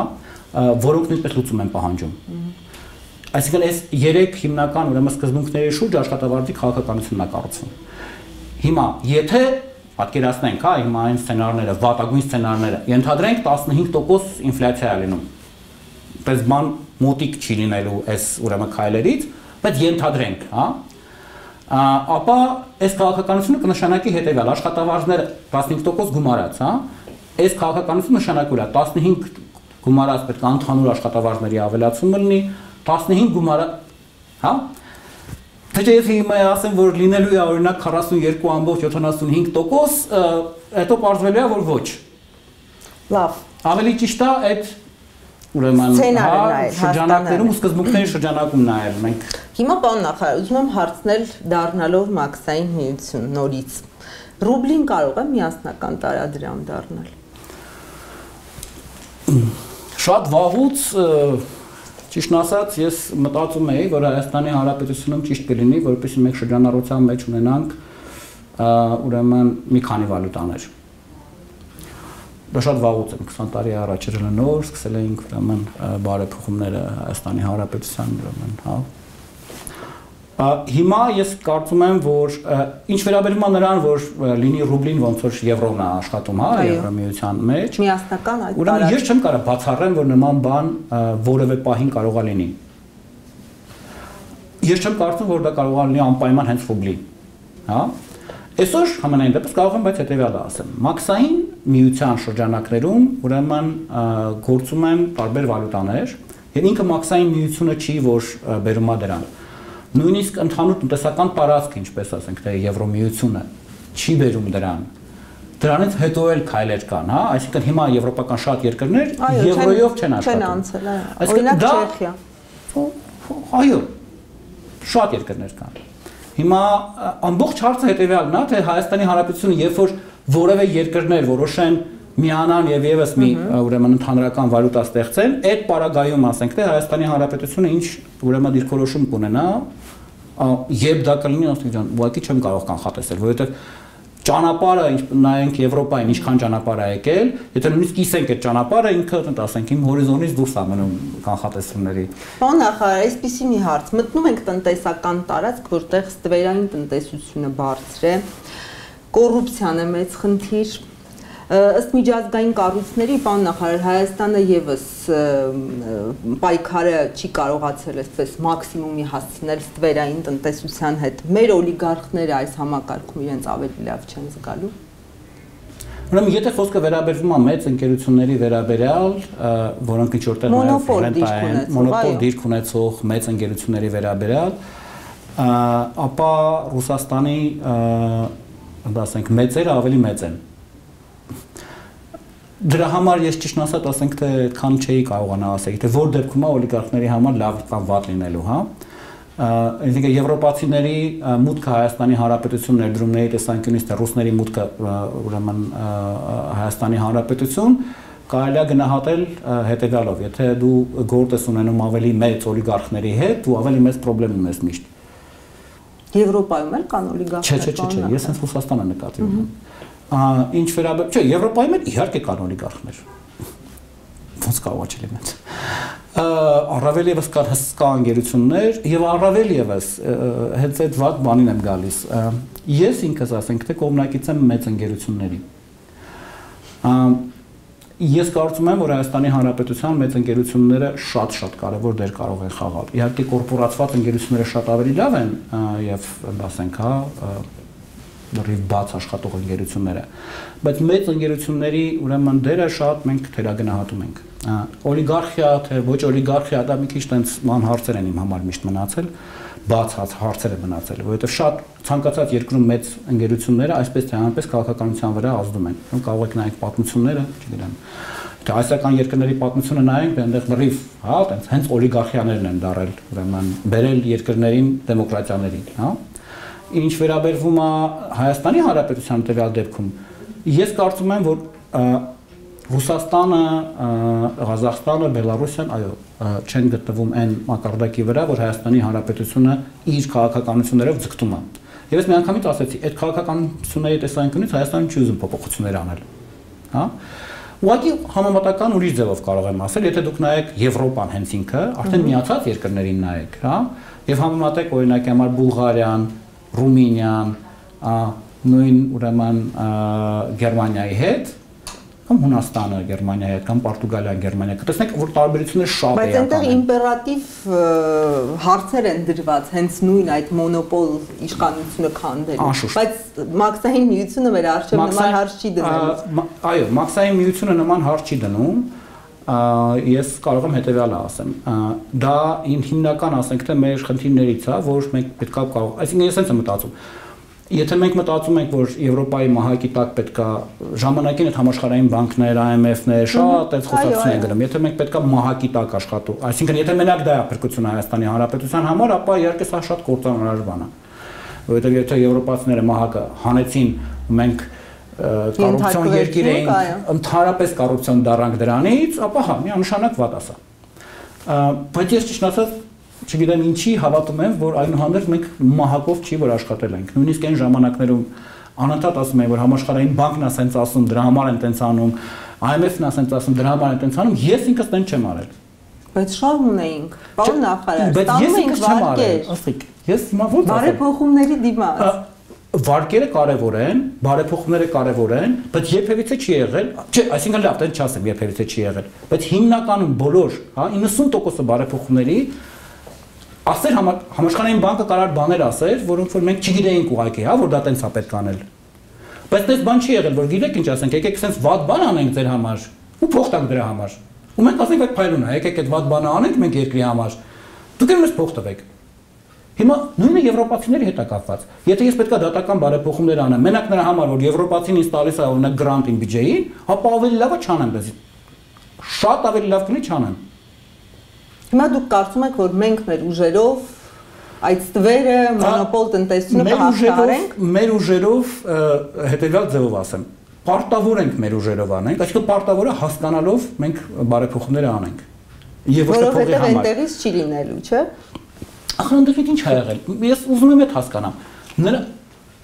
որոնք նույնպես լուծում են պահանջում։ Այսինքն այս 3 հիմնական ուրեմն սկզբունքների շուրջ աշխատավարձի քաղաքականությունն է կառուցվում։ Հիմա, եթե պատկերացնենք, հա, հիմա այն սցենարները, վատագույն սցենարները, ենթադրենք 15% ինֆլյացիա է լինում։ Պես բան մոտիկ չի լինելու այս ուրեմն քայլերից, բայց ենթադրենք, հա, ապա այս քաղաքականությունը կնշանակի հետևյալ աշխատավարձները 15% գումարած, հա, այս քաղաքականությունը նշանակում է 15 գումարած պետք է ընդհանուր աշխատավարձների ավելացումը լինի, 15 գումարը, հա? Թե ես հիմա ասեմ, որ լինելու է օրինակ 42.75%, հետո պարզվելու է, որ ոչ։ Լավ։ Ավելի ճիշտ է այդ ուրեմն շրջանակներում ու սկզբունքների շրջանակում նայել մենք։ Հիմա պարոն նախարար, ուզում եմ հարցնել դառնալով մաքսային միություն նորից։ Ռուբլին կարող է միասնական տարադրամ դառնալ։ Շատ վաղուց ճիշտն ասած, ես մտածում էի, որ Հայաստանի Հանրապետությունում ճիշտ կլինի, որպեսզի մենք շրջանառության մեջ ունենանք ուրեմն մի քանի վալյուտաներ։ շատ վաղուց եմ 20 տարի առաջ նոր սկսել էինք ուրեմն բարեփոխումները Հայաստանի Հանրապետության ուրեմն, հա։ Հիմա ես կարծում եմ, որ ինչ վերաբերում է նրան, որ լինի ռուբլին ոնց որ եվրոն է աշխատում, հա, Եվրամիության մեջ։ Միասնական այդ ուրեմն ես չեմ կարող բացառեմ, որ նման բան որևէ պահին կարող է լինի։ Ես չեմ կարծում, որ դա կարող է լինի անպայման հենց ռուբլի, հա։ Այսօր համենայն դեպս կարող եմ բայց հետևյալը ասեմ։ Մաքսային միության շրջանակներում ուրեմն գործում են տարբեր վալյուտաներ, եւ ինքը մաքսային միությունը չի, որ բերում է դրան։ Նույնիսկ ընդհանուր տնտեսական տարածքը, ինչպես ասենք, թե Եվրոմիությունը չի բերում դրան։ Դրանից հետո էլ քայլեր կան, հա, այսինքն հիմա եվրոպական շատ երկրներ եվրոյով չեն աշխատում։ Օրինակ Չեխիա։ Այո, շատ երկրներ կան։ Հիմա ամբողջ հարցը հետևյալն է, թե Հայաստանի Հանրապետությունը երբ որ որևէ երկրներ որոշեն միանան եւ եւս մի ուրեմն ընդհանրական վալյուտա ստեղծեն, այդ պարագայում ասենք թե Հայաստանի Հանրապետությունը ինչ ուրեմն դիրքորոշում կունենա, երբ դա կլինի, ասենք ջան, ուղղակի չեմ կարող կանխատեսել, որովհետեւ ճանապարհը նայենք Եվրոպային ինչքան ճանապարհ է եկել, եթե նույնիսկ կիսենք այդ ճանապարհը, ինքը ասենք իմ հորիզոնից դուրս է մնում կանխատեսումների։ Պարոն նախարար, այսպեսի մի հարց, մտնում ենք տնտեսական տարածք, որտեղ ստվերային տնտեսությունը բարձր է, կոռուպցիան է մեծ խնդիր։ Ըստ միջազգային կառույցների, պարոն նախարար, Հայաստանը եւս պայքարը չի կարողացել այսպես մաքսիմումի հասցնել ստվերային տնտեսության հետ։ Մեր օլիգարխները այս համակարգում իրենց ավելի լավ չեն զգալու։ Ուրեմն եթե խոսքը վերաբերվում է մեծ ընկերությունների վերաբերյալ, որոնք ինչ որտեղ մոնոպոլ դիրք ունեցող մեծ ընկերությունների վերաբերյալ, ապա Ռուսաստանի, ասենք, մեծերը ավելի մեծ են։ Դրա համար ես ճիշտ ասած ասենք թե այդքան չէի կարողանա ասել, թե որ դեպքում է օլիգարխների համար լավ կամ վատ լինելու, հա։ Այսինքն եվրոպացիների մուտքը Հայաստանի Հանրապետություն ներդրումների տեսանկյունից թե ռուսների մուտքը ուրեմն Հայաստանի Հանրապետություն կարելի է գնահատել հետևյալով, եթե դու գործ ես ունենում ավելի մեծ օլիգարխների հետ, դու ավելի մեծ խնդրեմ ունես միշտ։ Եվրոպայում էլ կան օլիգարխներ։ Չէ, ես հենց Ռուսաստանը նկատի ունեմ։ Ինչ վերաբերում, չէ, Եվրոպայում էլ իհարկե կան օլիգարխներ։ Ոնց կարող է չլինել։ Առավել եւս կան հսկա ընկերություններ եւ առավել եւս հենց այդ վատ բանին եմ գալիս։ Ես ինքս ասենք թե կողմնակից եմ մեծ ընկերությունների։ Ես կարծում եմ, որ Հայաստանի Հանրապետության մեծ ընկերությունները շատ կարևոր դեր կարող են խաղալ։ Իհարկե կորպորացված ընկերությունները շատ ավելի լավ են եւ ասենք, հա, լրիվ բաց աշխատող ընկերությունները, բայց մեծ ընկերությունների ուրեմն դերը շատ մենք թերագնահատում ենք։ Օլիգարխիա թե ոչ օլիգարխիա, դա մի քիչ տենց ման հարցեր են իմ համար միշտ մնացել, բաց հարցեր են մնացել, որովհետև շատ ցանկացած երկրում մեծ ընկերությունները այսպես թե այնպես քաղաքականության վրա ազդում են։ Կարող եք նայեք պատմությունները, չգիտեմ, թե այսական երկրների պատմությունը նայենք, այնտեղ լրիվ, հա, տենց հենց օլիգարխիաներն են դարել, ուրեմն բերել երկրներին դեմոկրատիաներին, հա։ Ինչ վերաբերվում է Հայաստանի Հանրապետության տվյալ դեպքում, ես կարծում եմ, որ Ռուսաստանը, Ղազախստանը, Բելարուսիան, այո, չեն գտնվում այն մակարդակի վրա, որ Հայաստանի Հանրապետությունը իր քաղաքականություններով ձգտում է։ Եվ ես միանգամից ասեցի, այդ քաղաքականությունների տեսանկյունից Հայաստանը չի ուզում փոփոխություններ անել, հա։ Ուղղակի համեմատական ուրիշ ձևով կարող եմ ասել, եթե դուք նայեք Եվրոպան հենց ինքը, արդեն միացած երկրներին նայեք, հա, եւ համեմատեք օրինակ համար Բուլղարիան, Ռումինիան, նույն ուրեմն Գերմանիայի հետ, կամ Հունաստանը Գերմանիայի հետ, կամ Պորտուգալիան Գերմանիայի հետ, տեսնեք, որ տարբերությունները շատ են։ Բայց այնտեղ իմպերատիվ հարցեր են դրված, հենց նույն այդ մոնոպոլ իշխանությունը քանդելու։ Բայց մաքսային միությունը մեր առջև նման հարց չի դնում։ Այո, մաքսային միությունը նման հարց չի դնում։ Ես կարող եմ հետևյալը ասեմ, դա հիմնական ասենք թե մեր խնդիրներից է, որ մենք պետքա կարող, այսինքն ես հենց եմ մտածում, եթե մենք մտածում ենք, որ Եվրոպայի մահակի տակ պետքա ժամանակին այդ համաշխարհային բանկներ, IMF-ներ շատ այդ խոսակցություն են գնում, եթե մենք պետքա մահակի տակ աշխատու, այսինքն եթե մենակ դա է փրկությունը Հայաստանի Հանրապետության համար, ապա իհարկե սա շատ կործանարար բան է, որովհետև եթե եվրոպացիները մահակը հանեցին, մենք կոռուպցիոն երկիր էինք, ընդհանրապես կոռուպցիոն դառանք դրանից, ապա հա, միանշանակ վատ ասա։ Բայց ես ճիշտ ասած, չգիտեմ ինչի հավատում եմ, որ այնուհանդերձ մենք մահակով չի որ աշխատել ենք։ Նույնիսկ այն ժամանակներում անընդհատ ասում էին, որ համաշխարհային բանկն է սենց ասում, դրա համար են տենց անում, IMF-ն ասենց ասում դրա համար են տենց անում, ես ինքս տենց չեմ արել։ Բայց շահ ունեինք, պարոն նախարար, բայց ես ինքս չեմ արել, ասիկ, ես հիմա ո՞նց ասեմ։ Բարեփոխումների դիմաց։ Վարկերը կարևոր են, բարեփոխումները կարևոր են, բայց երբևիցե չի եղել, չէ, այսինքն լավ, տենց չասեմ, երբևիցե չի եղել, բայց հիմնականում բոլոր, հա, 90% բարեփոխումների ասեր համաշխարհային բանկը կարար բաներ ասեր, որոնք որ մենք չգիտեինք ուղղակի, հա, որ դա տենց է պետք անել։ Բայց դες բան չի եղել, որ գիտեք ինչ ասենք, եկեք սենց վատ բան անենք ձեր համար, ու փող տանք դրա համար։ Ու մենք ասենք այդ փայլուն է, եկեք այդ վատ բանը անենք մենք երկրի համար։ Դուք էլ մեզ փող տվեք։ Հիմա նույնը եվրոպացիների հետ է կապված։ Եթե ես պետքա դատական բարեփոխումներ անեմ, մենակ նրա համար, որ եվրոպացին ինձ տալիս է օրինակ գրանտին բյուջեին, ապա ավելի լավը չանեմ դες։ Շատ ավելի լավ կլինի չանեմ։ Հիմա դուք կարծում եք, որ մենք մեր ուժերով այդ ստվերը մոնոպոլ տնտեսությունը կհաղթահարենք։ Մեր ուժերով հետևյալ ձևով ասեմ, պարտավոր ենք մեր ուժերով անենք, այսինքն պարտավորը հասկանալով մենք բարեփոխումներ անենք։ Եվ ոչ թե փողի համար։ Որովհետև այնտեղից չի լինելու, չէ՞։ Ախր այնտեղից ինչ է եղել։ Ես ուզում եմ այդ հասկանամ։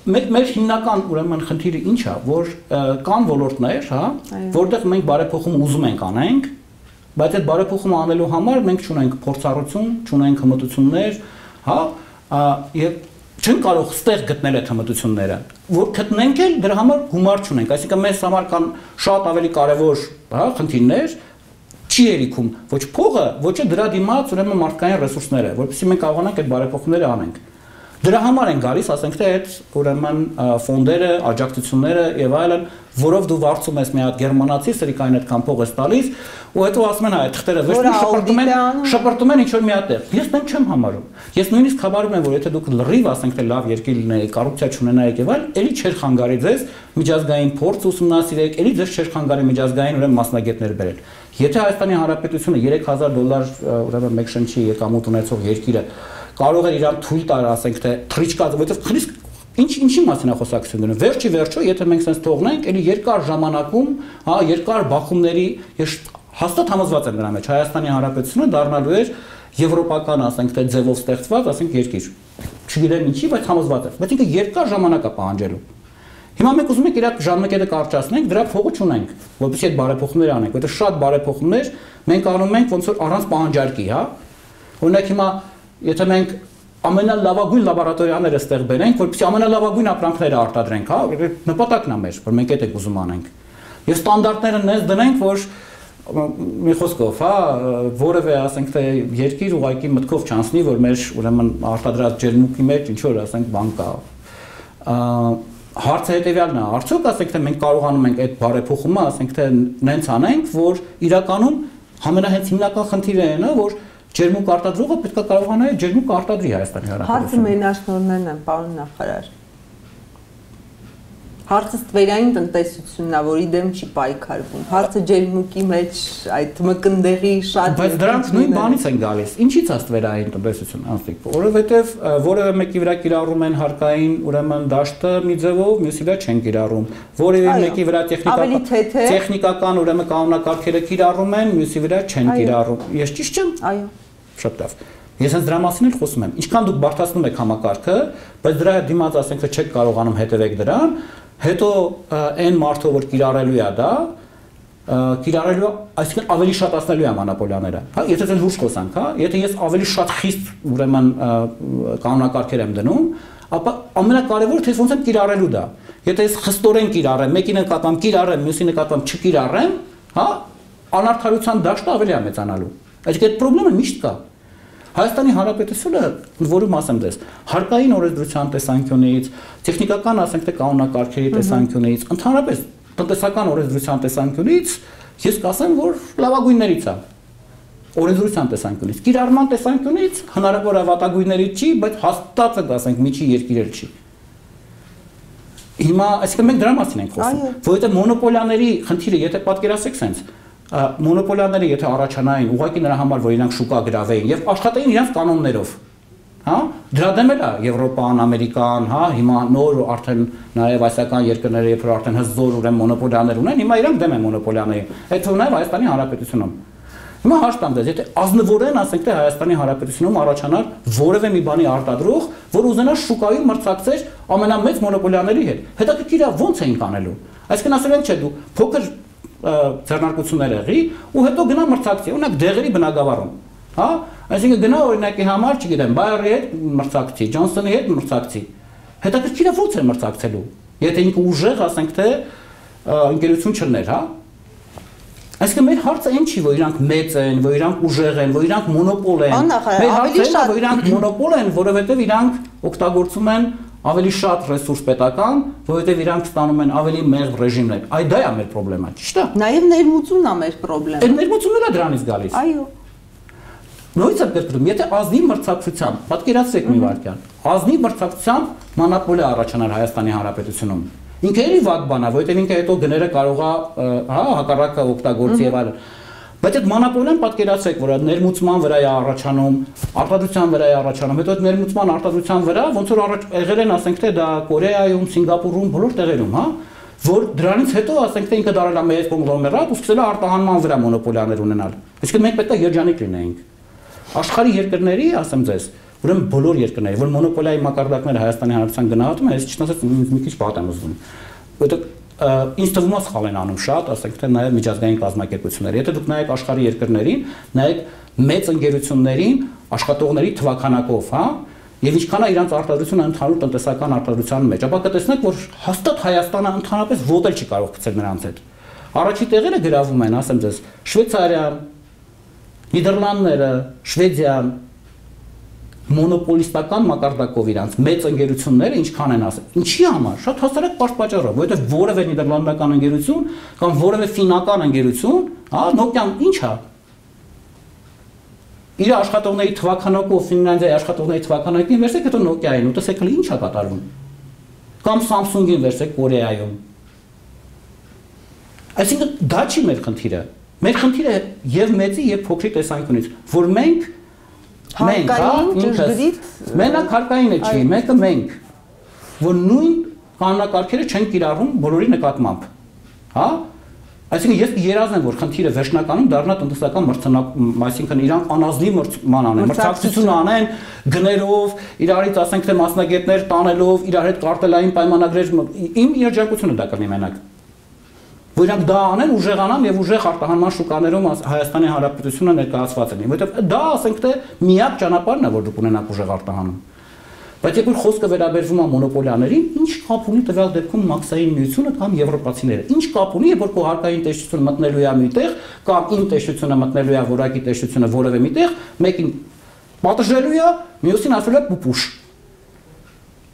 Մեր հիմնական ուրեմն խնդիրը ինչ է, որ կան ոլորտներ, հա, որտեղ մենք բարեփոխում ուզում ենք անենք, բայց այդ բարեփոխումը անելու համար մենք չունենք փորձառություն, չունենք հմտություններ, հա, եւ չեն կարող ստեղ գտնել այդ հմտությունները, որ գտնենք էլ դրա համար գումար չունենք, այսինքն մեզ համար կան շատ ավելի կարևոր, հա, խնդիրներ, չի երիքում ոչ փողը, ոչ դրա դիմաց ուրեմն մարդկային ռեսուրսները, որովհետեւ մենք կարողանանք այդ բարեփոխումները անենք։ Դրա համար են գալիս, ասենք թե այդ ուրեմն ֆոնդերը, աջակցությունները եւ այլն, որով դու վարձում ես մի հատ գերմանացի, սրիկային այդքան փող ես տալիս, ու հետո ասում են այ թղթերը վերջում շպրտում են ինչ որ մի հատ տեղ։ Ես դեմ չեմ համարում։ Ես նույնիսկ խաբարում եմ, որ եթե դուք լրիվ ասենք թե լավ երկիր լինեիք, կոռուպցիա չունենայիք եւ այլ, էլի չէր խանգարի ձեզ միջազգային փորձ ուսումնասիրեք, էլի ձեզ չէր խանգարի միջազգային ուրեմն մասնագետներ բերել։ Եթե Հայաստանի Հանրապետությունը $3000 ուրեմն մեկ շնչի եկամուտ ունեցող երկիրը կարող է իրան թույլ տալ, ասենք թե թրիչկա, որովհետև խիստ ինչի մասին է խոսակցություն գնում։ Վերջի վերջո, եթե մենք sense թողնենք, էլի երկար ժամանակում, հա, երկար բախումների, ես հաստատ համոզված եմ դրա մեջ, Հայաստանի Հանրապետությունը դառնալու էր եվրոպական, ասենք թե ձևով ստեղծված, ասենք երկիր։ Չգիտեմ ինչի, բայց համոզված եմ։ Բայց ինքը երկար ժամանակ է պահանջելու։ Հիմա մենք ուզում ենք իր ժամանակը կարճացնենք, դրա փողը չունենք, որովհետեւ այդ բարեփոխումներ անենք, որովհետեւ շատ բարեփոխումներ մենք անում ենք ոնց որ առանց պահանջարկի, հա։ Օրինակ հիմա եթե մենք ամենալավագույն լաբորատորիաները ստեղ բերենք, որպեսզի ամենալավագույն ապրանքները արտադրենք, հա, նպատակն է մեր, որ մենք այդ ենք ուզում անենք։ Եվ ստանդարտները նես դնենք, որ մի խոսքով, հա, որևէ, ասենք թե երկիր ուղղակի մտքով չանցնի, որ մեր ուրեմն արտադրած ջերմուկի մեջ ինչ որ, ասենք, բան կա։ Հարցը հետևյալն է, արդյոք ասենք թե մենք կարողանում ենք այդ բարեփոխումը, ասենք թե նենց անենք, որ իրականում ամենահենց հիմնական խնդիրը այն է, որ ջերմուկ արտադրողը պետք է կարողանա ջերմուկ արտադրի Հայաստանի Հանրապետությունում։ Հարցը մենաշնորհներն են, պարոն նախարար։ Հարցը ստվերային տնտեսությունն է, որի դեմ չի պայքարվում։ Հարցը ջերմուկի մեջ այդ մկնդեղի շատ բայց դրանք նույն բանից են գալիս։ Ինչի՞ց է ստվերային տնտեսություն, անստիկ, որովհետև որևէ մեկի վրա կիրառում են հարկային ուրեմն դաշտը մի ձևով, մյուսի վրա չեն կիրառում։ Որևէ մեկի վրա տեխնիկական ուրեմն կանոնակարգերը կիրառում են, մյուսի վրա չեն կիրառում։ Ես ճիշտ չեմ։ Այո։ Շատ լավ։ Ես հենց դրա մասին էլ խոսում եմ։ Ինչքան դուք բարդացնում եք համակարգը, բայց դրա դիմաց ասենք թե չեք կարողանում հետևեք դրան, հետո այն մարդը որ կիրառելու է դա, կիրառելու, այսինքն ավելի շատացնելու է մոնոպոլիաները։ Հա, եթե դες լուրջ խոսանք, հա, եթե ես ավելի շատ խիստ ուրեմն կանոնակարգեր եմ դնում, ապա ամենակարևորը թե ոնց եմ կիրառելու դա։ Եթե ես խստորեն կիրառեմ, մեկի նկատմամբ կիրառեմ, մյուսի նկատմամբ չկիրառեմ, հա, անարդարության դաշտը ավելի է մեծանալու։ Այսինքն այդ խնդիրը միշտ կա։ Հայաստանի Հանրապետությունը, որում ասեմ դες, հարկային օրենսդրության տեսանկյունից, տեխնիկական, ասենք թե կանոնակարգերի տեսանկյունից, ընդհանրապես տնտեսական օրենսդրության տեսանկյունից, ես կասեմ, որ լավագույններից է։ Օրենսդրության տեսանկյունից, կիրառման տեսանկյունից հնարավոր է վատագույններից չի, բայց հաստատ է, ասենք, միջի երկիրել չի։ Հիմա, այսինքն մենք դրա մասին ենք խոսում, որովհետև մոնոպոլիաների խնդիրը, եթե պատկերացրեք sense մոնոպոլիաները եթե առաջանային ուղղակի նրա համար որ իրանք շուկա գրավեին եւ աշխատեին իրանք կանոններով, հա, դրա դեմ էլ է Եվրոպան, Ամերիկան, հա, հիմա նոր արդեն նաեւ ասիական երկրները երբ որ արդեն հզոր ուրեմն մոնոպոլիաներ ունեն, հիմա իրանք դեմ են մոնոպոլիաներին, այդ թվում նաեւ Հայաստանի Հանրապետությունում։ Հիմա հաշտամ դες, եթե ազնվորեն ասենք թե Հայաստանի Հանրապետությունում առաջանար որևէ մի բանի արտադրող, որ ուզենա շուկայում մրցակցեր ամենամեծ մոնոպոլիաների հետ, հետաքրքիր է ո՞նց էին անելու։ Այսինքն ասել են չէ դու փոքր ձեռնարկություններ եղի ու հետո գնա մրցակցի, օրինակ դեղերի բնագավառում, հա, այսինքն գնա օրինակի համար, չգիտեմ, Բայերի հետ մրցակցի, Ջոնսոնի հետ մրցակցի։ Հետաքրքիր է ո՞նց է մրցակցելու։ Եթե ինքը ուժեղ, ասենք թե ընկերություն չներ, հա։ Այսինքն մեր հարցը այն չի, որ իրանք մեծ են, որ իրանք ուժեղ են, որ իրանք մոնոպոլ են։ Մեր հարցը այն է, որ իրանք մոնոպոլ են, որովհետև իրանք օգտագործում են ավելի շատ ռեսուրս պետական, որովհետև իրանք ստանում են ավելի մեղմ ռեժիմներ։ Այդ դա է մեր խնդրեմը, ճիշտ է։ Նաև ներմուծումն է մեր խնդրեմը։ Այդ ներմուծումն է դրանից գալիս։ Այո։ Նույնիսկ կրկնում, եթե ազնիվ մրցակցությամբ, պատկերացրեք մի վարքյան, ազնիվ մրցակցությամբ մոնոպոլիա առաջանար Հայաստանի Հանրապետությունում։ Ինքը էլի վատ բան է, որովհետև ինքը հետո գները կարող է, հա, հակառակը օգտագործի եւ այլն։ Բայց այդ մոնոպոլիան պատկերացրեք, որ ներմուծման վրա է առաջանում, արտադրության վրա է առաջանում, հետո այդ ներմուծման արտադրության վրա ոնց որ եղել են, ասենք թե դա Կորեայում, Սինգապուրում, բոլոր տեղերում, հա, որ դրանից հետո ասենք թե ինքը դարել է մեծ կոնգլոմերատ ու սկսել է արտահանման վրա մոնոպոլիաներ ունենալ։ Այսինքն մենք պետք է երջանիկ լինեինք։ Աշխարհի երկրների, ասեմ ձեզ, ուրեմն բոլոր երկրների, որ մոնոպոլիայի մակարդակները Հայաստանի Հանրապետության գնահատում են, ես ճիշտ ասած մի քիչ վատ եմ զգում։ Որտեղ ինձ թվում է սխալ են անում շատ, ասենք թե նաև միջազգային կազմակերպությունները։ Եթե դուք նայեք աշխարհի երկրներին, նայեք մեծ ընկերություններին աշխատողների թվականակով, հա, եւ ինչքան է իրանց արտադրությունը ընդհանուր տնտեսական արտադրության մեջ, ապա կտեսնեք, որ հաստատ Հայաստանը ընդհանրապես ոդել չի կարող գցել նրանց հետ։ Առաջի տեղերը գրավում են, ասեմ ձեզ, Շվեյցարիան, Նիդերլանդները, Շվեդիան, մոնոպոլիստական մակարդակով իրանց մեծ ընկերությունները ինչքան են ասել։ Ինչի համար։ Շատ հասարակ պատճառով, որովհետև որևէ նիդերլանդական ընկերություն կամ որևէ ֆինական ընկերություն, հա, Nokia-ն ինչ է։ Իր աշխատողների թվականակով Ֆինլանդիայի աշխատողների թվականակին վերցեք հետո Nokia-ին ու տեսեք ինչ է կատարվում։ Կամ Samsung-ին վերցեք Կորեայում։ Այսինքն դա չի մեր խնդիրը։ Մեր խնդիրը եւ մեծի եւ փոքրի տեսանկյունից, որ մենք մենակ հարկային է չի, մեկը մենք, որ նույն կանոնակարգերը չեն կիրառում բոլորի նկատմամբ, հա, այսինքն ես երազն եմ, որ խնդիրը վերջնականում դառնա տնտեսական մրցանակ, այսինքն իրանք անազնիվ մրցակցություն անեն գներով, իրարից ասենք թե մասնագետներ տանելով, իրար հետ կարտելային պայմանագրեր, իմ երջանկությունը դա կլինի մենակ։ Որ իրանք դա անեն, ուժեղանան եւ ուժեղ արտահանման շուկաներում Հայաստանի Հանրապետությունը ներկայացված են, որովհետեւ դա ասենք թե միակ ճանապարհն է, որ դուք ունենաք ուժեղ արտահանում։ Բայց երբ որ խոսքը վերաբերվում է մոնոպոլիաներին, ինչ կապ ունի տվյալ դեպքում մաքսային միությունը կամ եվրոպացիները։ Ինչ կապ ունի, երբ որ քո հարկային տեսչությունը մտնելու է միտեղ, կամ իմ տեսչությունը մտնելու է որակի տեսչությունը որևէ միտեղ, մեկին պատժելու է, մյուսին ասելու է պուպուշ։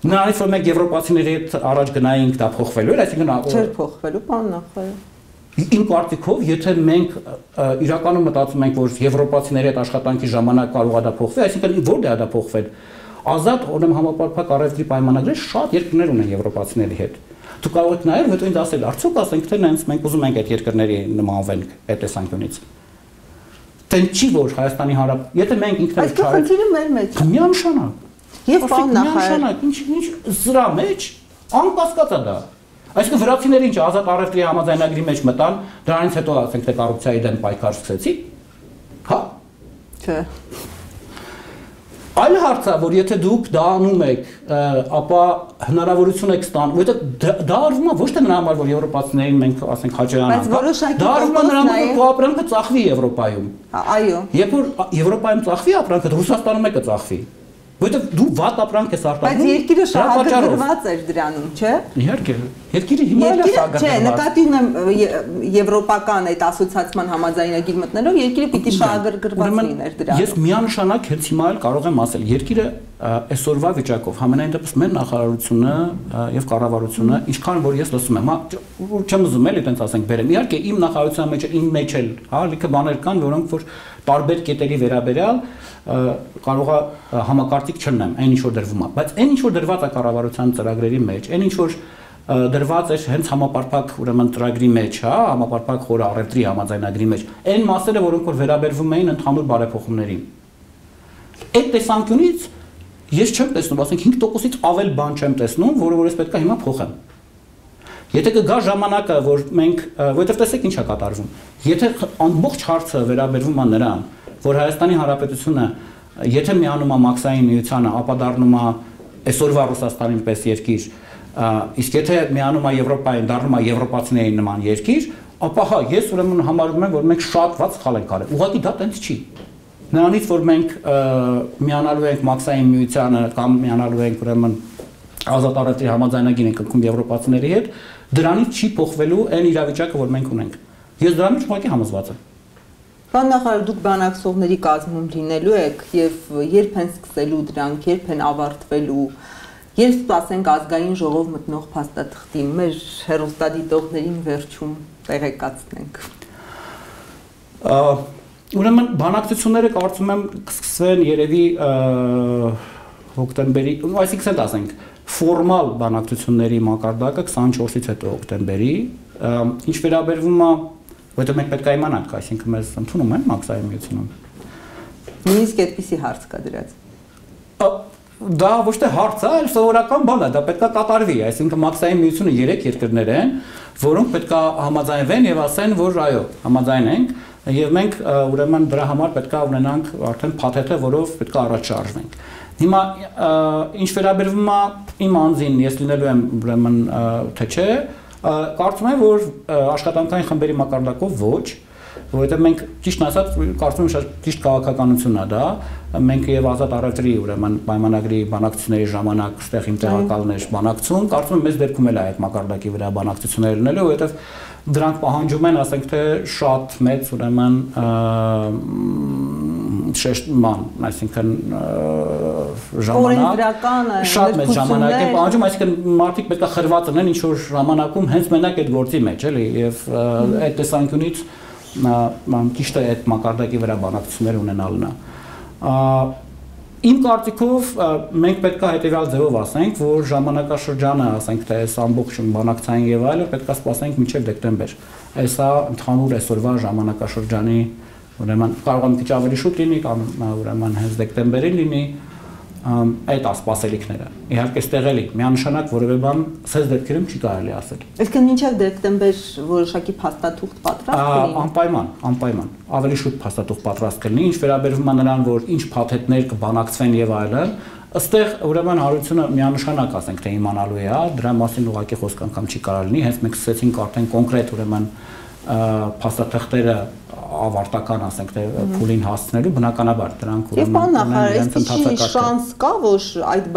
Նրանից որ մենք եվրոպացիների հետ առաջ գնայինք, դա փոխվելու էր, այսինքն չէր փոխվելու, պարոն նախարար։ Իմ կարծիքով, եթե մենք իրականում մտածում ենք, որ եվրոպացիների հետ աշխատանքի ժամանակ կարող է դա փոխվել, այսինքն որտե՞ղ է դա փոխվել։ Ազատ օրեմ համապարփակ առևտրի պայմանագրեր շատ երկրներ ունեն եվրոպացիների հետ։ Դու կարող եք նայել, հետո ինձ ասել, արդյոք ասենք թե նենց մենք ուզում ենք այդ երկրների նմանվենք այդ տեսանկյունից։ Տեն չի որ Հայաստանի Հանրապետություն, եթե մենք ինքներս չարենք։ Այս խնդիրը մեր մեջ է։ Միանշանակ։ Եվ պարոն նախարար, ինչ զրա մեջ անկասկած է դա։ Այսինքն վրացիները ինչ ազատ առևտրի համաձայնագրի մեջ մտան, դրանից հետո ասենք թե կոռուպցիայի դեմ պայքար սկսեցի։ Հա։ Չէ։ Այլ հարց է, որ եթե դուք դա անում եք, ապա հնարավորություն եք ստանում, որովհետև դա արվում է ոչ թե նրա համար, որ եվրոպացիներին մենք ասենք հաճայանանք, դա արվում է նրա համար, որ քո ապրանքը ծախվի Եվրոպայում։ Այո։ Երբ որ Եվրոպայում ծախվի ապրանքը, Ռուսաստանում է կծախվի։ Որտեւ դու վատ ապրանք ես արտադրում։ Բայց երկիրը շահագրգռված էր դրանում, չէ։ Իհարկե, երկիրը հիմա էլ է շահագրգռված։ Չէ, նկատի ունեմ եվրոպական այդ ասոցիացիան համաձայնագիր մտնելով երկիրը պիտի շահագրգռված լիներ դրանում։ Ես միանշանակ հենց հիմա էլ կարող եմ ասել, երկիրը այսօրվա վիճակով համենայն դեպս մեր նախարարությունը եւ կառավարությունը, ինչքան որ ես լսում եմ, չեմ ուզում էլի այտենց ասենք բերեմ։ Իհարկե իմ նախարարության մեջ իմ մեջ էլ, հա, լիքը բաներ կան, որոնք որ տարբեր կետերի վերաբերյալ կարող է համակարգիկ չլինեմ, այն ինչ որ դրվում է, բայց այն ինչ որ դրված է կառավարության ծրագրերի մեջ, այն ինչ որ դրված է հենց համապարփակ ուրեմն ծրագրի մեջ, հա, համապարփակ խորը առևտրի համաձայնագրի մեջ, այն մասերը, որոնք որ վերաբերվում էին ընդհանուր բարեփոխումներին։ Այդ տեսանկյունից ես չեմ տեսնում, ասենք 5%-ից ավել բան չեմ տեսնում, որը որ ես պետք է հիմա փոխեմ։ Եթե կգա ժամանակը, որ մենք, որովհետև տեսեք ինչ է կատարվում։ Եթե ամբողջ հարցը վերաբերվում է նրան, որ Հայաստանի Հանրապետությունը եթե միանում է մաքսային միությանը, ապա դառնում է այսօրվա Ռուսաստանին պես երկիր, իսկ եթե միանում է Եվրոպային, դառնում է եվրոպացիների նման երկիր, ապա հա, ես ուրեմն համարում եմ, որ մենք շատ վատ սխալ ենք արել։ Ուղղակի դա տենց չի։ Նրանից որ մենք միանալու ենք մաքսային միությանը կամ միանալու ենք ուրեմն ազատ առևտրի համաձայնագիր ենք կնքում եվրոպացիների հետ, դրանից չի փոխվելու այն իրավիճակը, որ մենք ունենք։ Ես դրանից ուղղակի համոզված եմ։ Պարոն նախարար, դուք բանակցողների կազմում լինելու եք եւ երբ են սկսելու դրանք, երբ են ավարտվելու, երբ սպասենք ազգային ժողով մտնող փաստաթղթի, մեր հեռուստադիտողներին վերջում տեղեկացնենք։ Ուրեմն բանակցությունները կարծում եմ կսկսվեն երևի հոկտեմբերի, այսինքն ասենք ֆորմալ բանակցությունների մակարդակը 24-ից հետո հոկտեմբերի, ինչ վերաբերվում է, որտեղ մենք պետք է իմանանք, այսինքն մեզ ընդունում են մաքսային միությունում։ Նույնիսկ այդպիսի հարց կա դրած։ Դա ոչ թե հարց է, այլ սովորական բան է, դա պետք է կատարվի, այսինքն մաքսային միությունը 3 երկրներ են, որոնք պետք է համաձայնվեն եւ ասեն, որ այո, համաձայն ենք, եւ մենք ուրեմն դրա համար պետք է ունենանք արդեն փաթեթը, որով պետք է առաջ շարժվենք։ Հիմա ինչ վերաբերվում է իմ անձին, ես լինելու եմ ուրեմն թե չէ, կարծում եմ, որ աշխատանքային խմբերի մակարդակով ոչ, որովհետև մենք ճիշտ ասած կարծում եմ շատ ճիշտ քաղաքականություն է դա, մենք եւ ազատ առևտրի ուրեմն պայմանագրի բանակցությունների ժամանակ այստեղ իմ տեղակալներ բանակցում, կարծում եմ մեզ դերքում էլ է այդ մակարդակի վրա բանակցություններ լինելու, որովհետև դրանք պահանջում են, ասենք թե շատ մեծ ուրեմն շեշտման, այսինքն ժամանակ, շատ մեծ ժամանակ են պահանջում, այսինքն մարդիկ պետք է խրված լինեն ինչ որ ժամանակում հենց մենակ այդ գործի մեջ, էլի, եւ այդ տեսանկյունից ճիշտ է այդ մակարդակի վրա բանակցություններ ունենալն է։ Իմ կարծիքով մենք պետք է հետևյալ ձևով ասենք, որ ժամանակաշրջանը, ասենք թե այս ամբողջ բանակցային եւ այլը պետք է սպասենք մինչեւ դեկտեմբեր։ Այսա ընդհանուր այսօրվա ժամանակաշրջանի, ուրեմն կարող է մի քիչ ավելի շուտ լինի կամ ուրեմն հենց դեկտեմբերին լինի այդ ասպասելիքները։ Իհարկե ստեղ էլի միանշանակ որևէ բան սեզ դեպքերում չի կարելի ասել։ Իսկ մինչև դեկտեմբեր որոշակի փաստաթուղթ պատրաստ կլինի։ Անպայման, ավելի շուտ փաստաթուղթ պատրաստ կլինի, ինչ վերաբերվում է նրան, որ ինչ փաթեթներ կբանակցվեն եւ այլն, ըստեղ ուրեմն հարությունը միանշանակ ասենք թե իմանալու է, դրա մասին ուղղակի խոսք անգամ չի կարող լինի, հենց մենք սկսեցինք արդեն կոնկրետ ուրեմն փաստաթղթերը ավարտական ասենք թե փուլին հասցնելու բնականաբար դրանք ուրեմն ունեն շանս կա որ այդ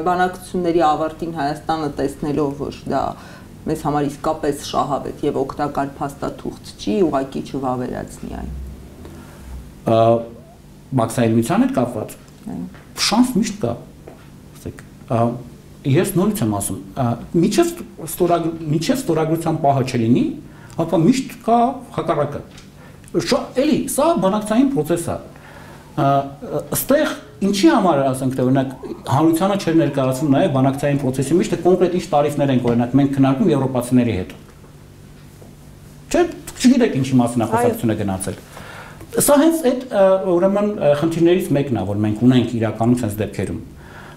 բանակցությունների ավարտին Հայաստանը տեսնելով որ դա մեզ համար իսկապես շահավետ եւ օգտակար փաստաթուղթ չի ուղղակի չվավերացնի այն մաքսային միության հետ կապված շանս միշտ կա ասեք ես նորից եմ ասում միջև ստորագրության պահը չլինի ապա միշտ կա հակառակը էլի սա բանակցային process է այստեղ ինչի համար ասենք թե օրինակ հանրությանը չէր ներկայացվում նաև բանակցային process-ի մեջ թե կոնկրետ ինչ տարիֆներ են օրինակ մենք քննարկում եվրոպացիների հետ չէ չգիտեք ինչի մասին է խոսակցությունը գնացել սա հենց այդ ուրեմն խնդիրներից մեկն է որ մենք ունենք իրականում sense դեպքերում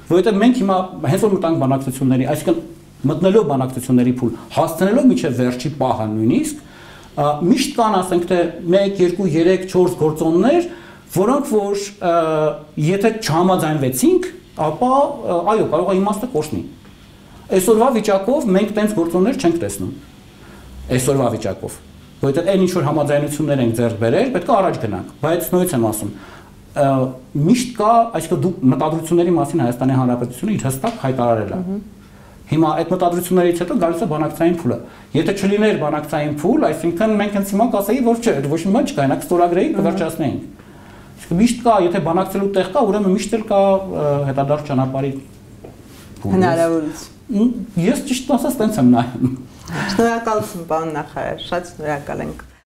որովհետև մենք հիմա հենց որ մտանք բանակցությունների այսինքն մտնելով բանակցությունների փուլ հասցնելով միջև վերջի պահը նույնիսկ միշտ կան ասենք թե 1, 2, 3, 4 գործոններ, որոնք որ եթե չհամաձայնվեցինք, ապա այո, կարող է իմաստը կորցնի։ Այսօրվա վիճակով մենք տենց գործոններ չենք տեսնում։ Այսօրվա վիճակով, որովհետև այն ինչ որ համաձայնություններ ենք ձեռք բերել, պետք է առաջ գնանք, բայց նույնից եմ ասում, միշտ կա, այսինքն դու մտադրությունների մասին Հայաստանի Հանրապետությունը իր հստակ հայտարարել է։ Հիմա այդ մտադրություններից հետո գալիս է բանակցային փուլը։ Եթե չլիներ բանակցային փուլ, այսինքն մենք հենց հիմա կասեի, որ չէ, ոչ մի բան չկա, այնակ ստորագրեինք, կվերջացնեինք։ Իսկ միշտ կա, եթե բանակցելու տեղ կա, ուրեմն միշտ էլ կա հետադարձ ճանապարհի հնարավորություն։ Ես ճիշտ ասած տենց եմ նայում։ Շնորհակալություն, պարոն նախարար, շատ շնորհակալ ենք։